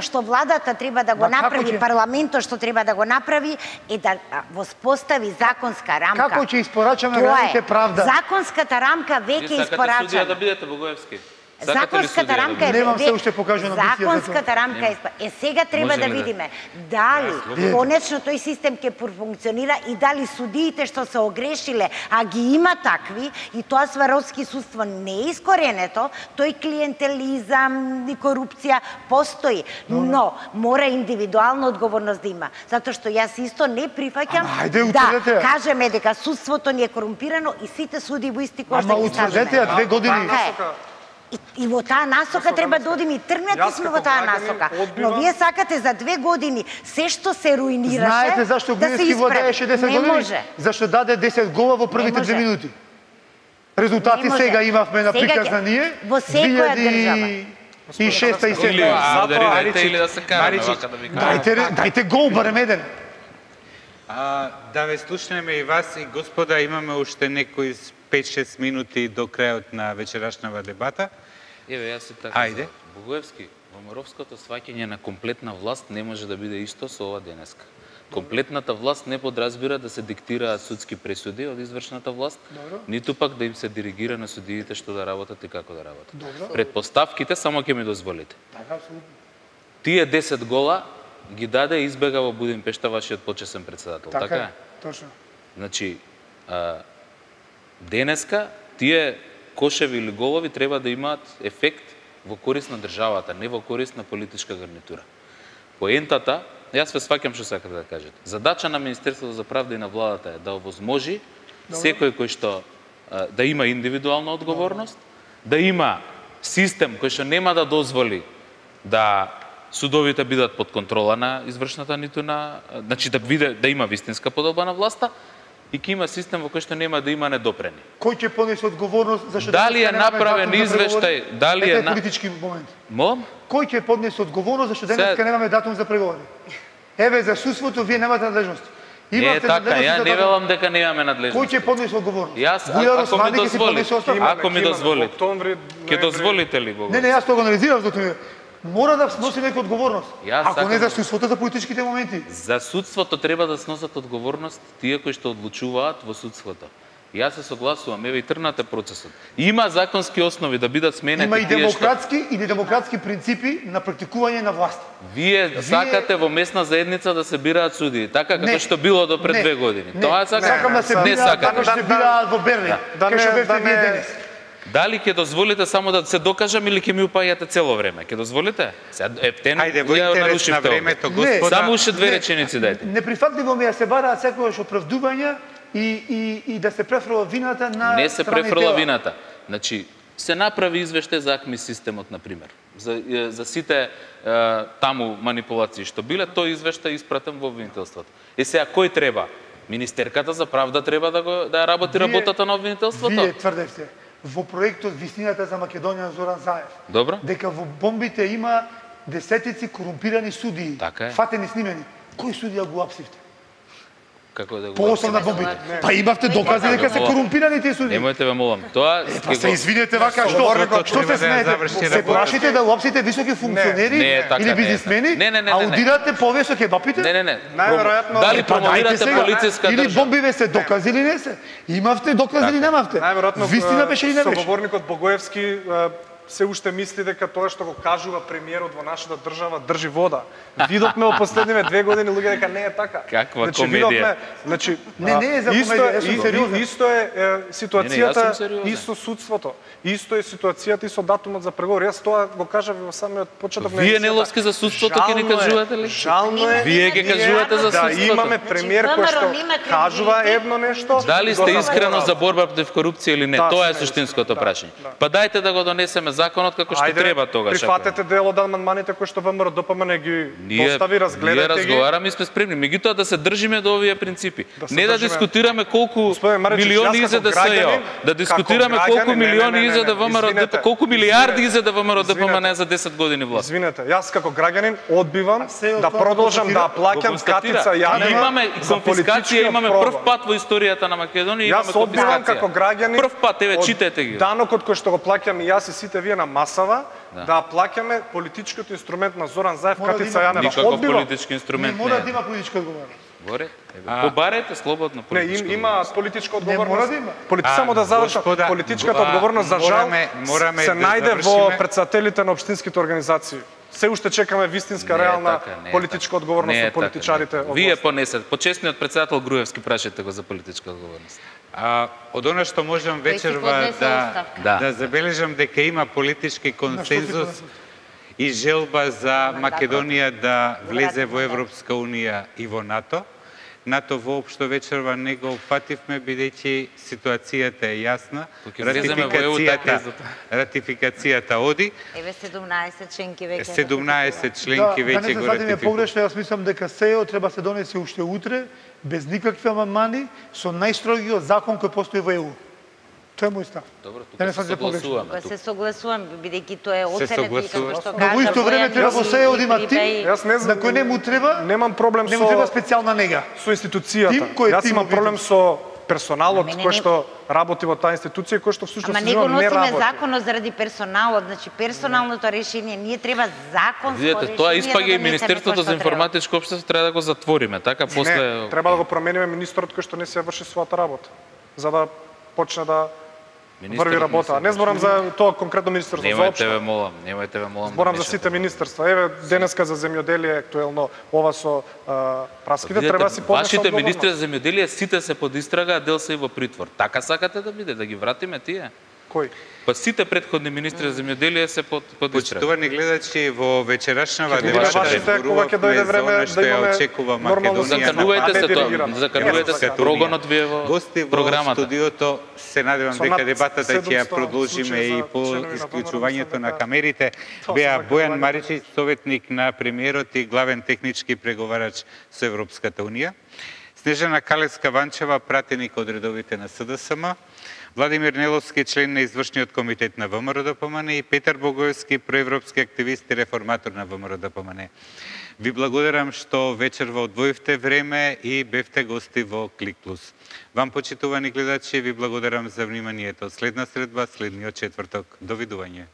што владата треба да го
Ма како
направи,
ќе-
парламентот што треба да го направи е да воспостави законска рамка.
Како ќе испорачаме
Тоа
граѓаните
е.
правда?
Законската рамка
Вие
веќе
сакате
испорачана.
судија да бидете Богоевски? Сакате ли
Законската
судија да
рамка е
бидете?
Немам се уште покажано амбиција за тоа.
законската рамка е сега треба
Може
да
ли да?
видиме дали конечно тој систем ќе функционира и дали судиите што се огрешиле, а ги има такви и тоа сваровски судство не е искоренето, тој клиентелизам и корупција постои, но мора индивидуална одговорност да има, затоа што јас исто не прифаќам
Ама, ајде,
да
утврдете ја.
кажеме дека судството ни е корумпирано и сите суди во исти кош да
Ама
ги
утврдете ја
ставиме.
2 години.
Така е. И во таа насока треба да одиме и тргнати
Јас
сме
како
во таа
граѓанин
насока. Но
одбивам-
вие сакате за 2 години се што се руинираше
Знаете зашто
да се
Глински
исправи.
владееше 10
Не
години?
може.
Зашто даде 10 гола во првите
може.
2 минути. Резултати
Не може.
сега имавме на
Сега ќе-
приказнание.
во секоја држава.
И 6 и
Или
7.
модерирайте или да се караме,
Маричи,
вака да ви кажам.
Дајте гол барем еден.
Да ве слушнеме и вас и господа, имаме уште некои 5-6 минути до крајот на вечерашнава дебата.
Еве, јас се така.
Ајде.
Богоевски, во моровското сваќање на комплетна власт не може да биде исто со ова денеска. Комплетната власт не подразбира да се диктираат судски пресуди од извршната власт, ниту пак да им се диригира на судиите што да работат и како да работат. Предпоставките само ќе ми дозволите. Тие 10 гола ги даде и избега во Будимпешта вашиот почесен председател, така е?
Точно.
Значи, денеска тие кошеви или голови треба да имаат ефект во корист на државата, не во корист на политичка гарнитура. Поентата, јас ве сваќам што сакате да кажете. Задача на Министерството за правда и на владата е да овозможи секој кој што да има индивидуална одговорност, да има систем кој што нема да дозволи да судовите бидат под контрола на извршната ниту на, значи да има вистинска поделба на власта и ќе има систем во кој што нема да има недопрени.
Кој ќе понесе одговорност зашто
Дали
денеска
е
немаме
направен
датум за преговори?
извештај, дали е
Ете политички момент.
Мом?
Кој ќе поднесе одговорност зашто денеска
Се-
немаме датум за преговори? Еве за судството вие немате надлежност.
Не е
Имате
така,
надлежност
ја
за
не
датум.
велам дека немаме
Кој
надлежност.
ќе поднесе одговорност?
Јас,
Бујар
ако ми
Османи ќе си
дозволите,
поднесе оставка?
ако ми дозволите.
Октомври,
Ќе дозволите ли го?
Не, јас тоа го анализирам, затоа мора да сноси некоја одговорност.
Јас
Ако не
сакам-
за судството, за политичките моменти.
За судството треба да сносат одговорност тие кои што одлучуваат во судството. Јас се согласувам, еве и тргнате процесот. Има законски основи да бидат сменети
Има и
тие што
демократски и недемократски принципи на практикување на власт.
вие сакате во местна заедница да се бираат судии, така како
Не.
што било до пред
Не.
2 години.
Не.
Тоа сакате?
Сакам да се
Не
бираат
сакате.
како што се бираат во Берлин.
Да
Кај што
не-
бевте
да
вие
не-
денес.
Дали ќе дозволите само да се докажам или ќе ми упаѓате цело време? Ќе дозволите? Сега ептен
Ајде, во
ја
интерес на
нарушивте овде.
времето,
Не,
господа.
Само уште две
Не.
реченици дајте.
Неприфатливо ми е да се бараат секогаш оправдувања и да се префрла вината на
Не се
страни
префрла
тела.
вината. Значи, се направи извештај за АКМИ системот, на пример. за сите таму манипулации што биле, тој извештај испратен во обвинителството. И сега кој треба? Министерката за правда треба да ја работи работата на обвинителството?
Вие тврдевте во проектот Вистината за Македонија на Зоран Заев.
Добро.
Дека во бомбите има десетици корумпирани судии.
Така е.
Фатени, снимени. Кој судија го апсивте?
Како да го
По основ на бомбите. Па имавте докази дека се корумпирани тие судии.
Немојте ве молам. Тоа
Па се извинете вака, што се смеете? Се плашите да уапсите високи функционери или бизнисмени? Аудирате повеќе кебапите?
Не.
Најверојатно
Дали промовирате полициска
или
држава?
бомбиве се докази или не се? Имавте докази или немавте?
Најверојатно
Вистина беше или не беше?
соговорникот Богоевски се уште мисли дека тоа што го кажува премиерот во нашата држава држи вода. Видовме во последниве 2 години луѓе дека не е така.
Каква комедија.
Значи,
Не е за комедија, јас сум сериозен.
Исто е ситуацијата
јас сум сериозен.
и со судството. Исто е ситуацијата и со датумот за преговори. Јас тоа го кажав во самиот почеток на
Вие
емисијата.
неловски за судството ќе ни кажувате ли?
Жално е.
Вие ќе кажувате за
да
судството.
имаме премиер кој што кажува едно нешто.
Дали сте искрено за борба против корупција или не?
Да,
Тоа е
сме
суштинското
искрени,
прашање.
да.
Па дајте да го донесеме законот како што треба тогаш.
Прифатете дел од амандманите кои што ВМРО ДПМН ги
Ние
достави, разгледате ги.
разговараме и сме спремни. Меѓутоа да се држиме до овие принципи.
се
Не да
држиме.
дискутираме колку
Господине Маричич,
милиони
јас
изеде
како
СЈО,
граѓанин,
да дискутираме
како
колку
граѓанин,
милиони
не,
изеде ВМРО
извинете,
ДПМН, колку милиарди
извинете,
изеде ВМРО ДПМН
извинете.
за 10 години власт.
Извинете, јас како граѓанин одбивам
се
да
тоа
продолжам да
констатира?
плаќам
Констатира.
катица јадна
Имаме
за
конфискација,
политичкиот
имаме
прогон.
прв пат во историјата на Македонија, имаме
Јас одбивам
конфискација.
како граѓанин.
Прв пат, еве
од
читете ги.
Данокот кој што го плаќам и јас и сите вие на масава, да плаќаме политичкиот инструмент на Зоран Заев,
Мора да
катица
има
Јанева.
Никаков
Одбивам.
политички
Не
инструмент
мора
не
да
е.
има политичка одговорност.
Горе, побарете слободно
Не,
политичко.
има политичка
Не мора
одговорност.
да има.
Само да завршам.
Господа,
Политичката одговорност за жал
мораме
се
да
најде во
завршиме.
претседателите на општинските организации. Се уште чекаме вистинска, реална политичка одговорност од политичарите. од
Вие
власт.
понесете. Почесниот председател Груевски прашете го за политичка одговорност.
Од она што можам
Тој си
вечерва
поднесе оставка.
да забележам дека има политички консензус
поднесе?
и желба за Македонија да влезе во Европска Унија и во НАТО. НАТО воопшто вечерва не го опфативме, бидејќи ситуацијата е јасна.
Кога ќе влеземе во ЕУ, така
Ратификацијата оди.
Еве 17 членки веќе.
17 членки
Да не
веќе
се
го
сватиме
ратификуваат.
погрешно, јас мислам дека СЕО треба се донесе уште утре, без никакви амандмани, со најстрогиот закон кој постои во ЕУ. Тоа е мој став.
Добро,
Да не
тука се
сватиме погрешно.
согласуваме.
Па се согласувам, бидејќи тоа е оценет и
согласува.
како што
Но
кажа.
во исто време
Бојан
треба во
и
СЕО да има
Припеј.
тим,
Јас не
на кој не му треба,
Немам проблем
не му треба
со
специјална нега.
институцијата.
Тим кој е
Јас
тим
имам проблем
обиден.
со персоналот
Ама не,
кој
не.
што работи во таа институција, кој што всушност
Ама не го
не
носиме
работи.
законот заради персоналот, значи персоналното решение, ние треба законско
Видете,
решение.
тоа
да
испаѓа и
донесеме
Министерството
тоа
за
што треба.
информатичко општество треба да го затвориме, така
Не,
после
треба да го промениме министерот кој што не се врши својата работа, за да почне да врви работа. Не зборам за тоа конкретно министерство, за
Немојте ве
општо.
молам, немојте ве молам.
Зборам
да
за
мешате.
сите министерства. Еве, денеска за земјоделие актуелно ова со праските,
Видете,
треба да си поднесе
вашите
одговорност.
министри за земјоделие сите се под истрага, а дел се и во притвор. Така сакате да биде, да ги вратиме тие?
Кој?
Па сите претходни министри за земјоделие се под истрага.
Почитувани гледачи, во вечерашнава
Ќе
дебата
вашите, кога ќе дојде време
за она што
да
ја
имаме
очекува
нормално
Македонија.
Заканувајте се тоа,
делегирано.
заканувајте се
Европската
прогонот
унија.
вие во
Гости во
програмата.
студиото, се надевам
Со
дека
над
дебатата ќе ја
700
продолжиме
случаи
и
за
по
членови на
исклучувањето
ВМРО,
на
дека
камерите.
тоа
Беа
се
Бојан
заканување.
Маричич, советник на премиерот и главен технички преговарач со Европската унија. Снежана Калевска-Ванчева, пратеник од редовите на СДСМ. Владимир Неловски, член на извршниот комитет на ВМРО ДПМН и Петар Богоевски, проевропски активист и реформатор на ВМРО ДПМН. Ви благодарам што вечерва одвоивте време и бевте гости во Клик Плюс. Вам, почитувани гледачи, ви благодарам за вниманието. Следна средба, следниот четврток. Довидување.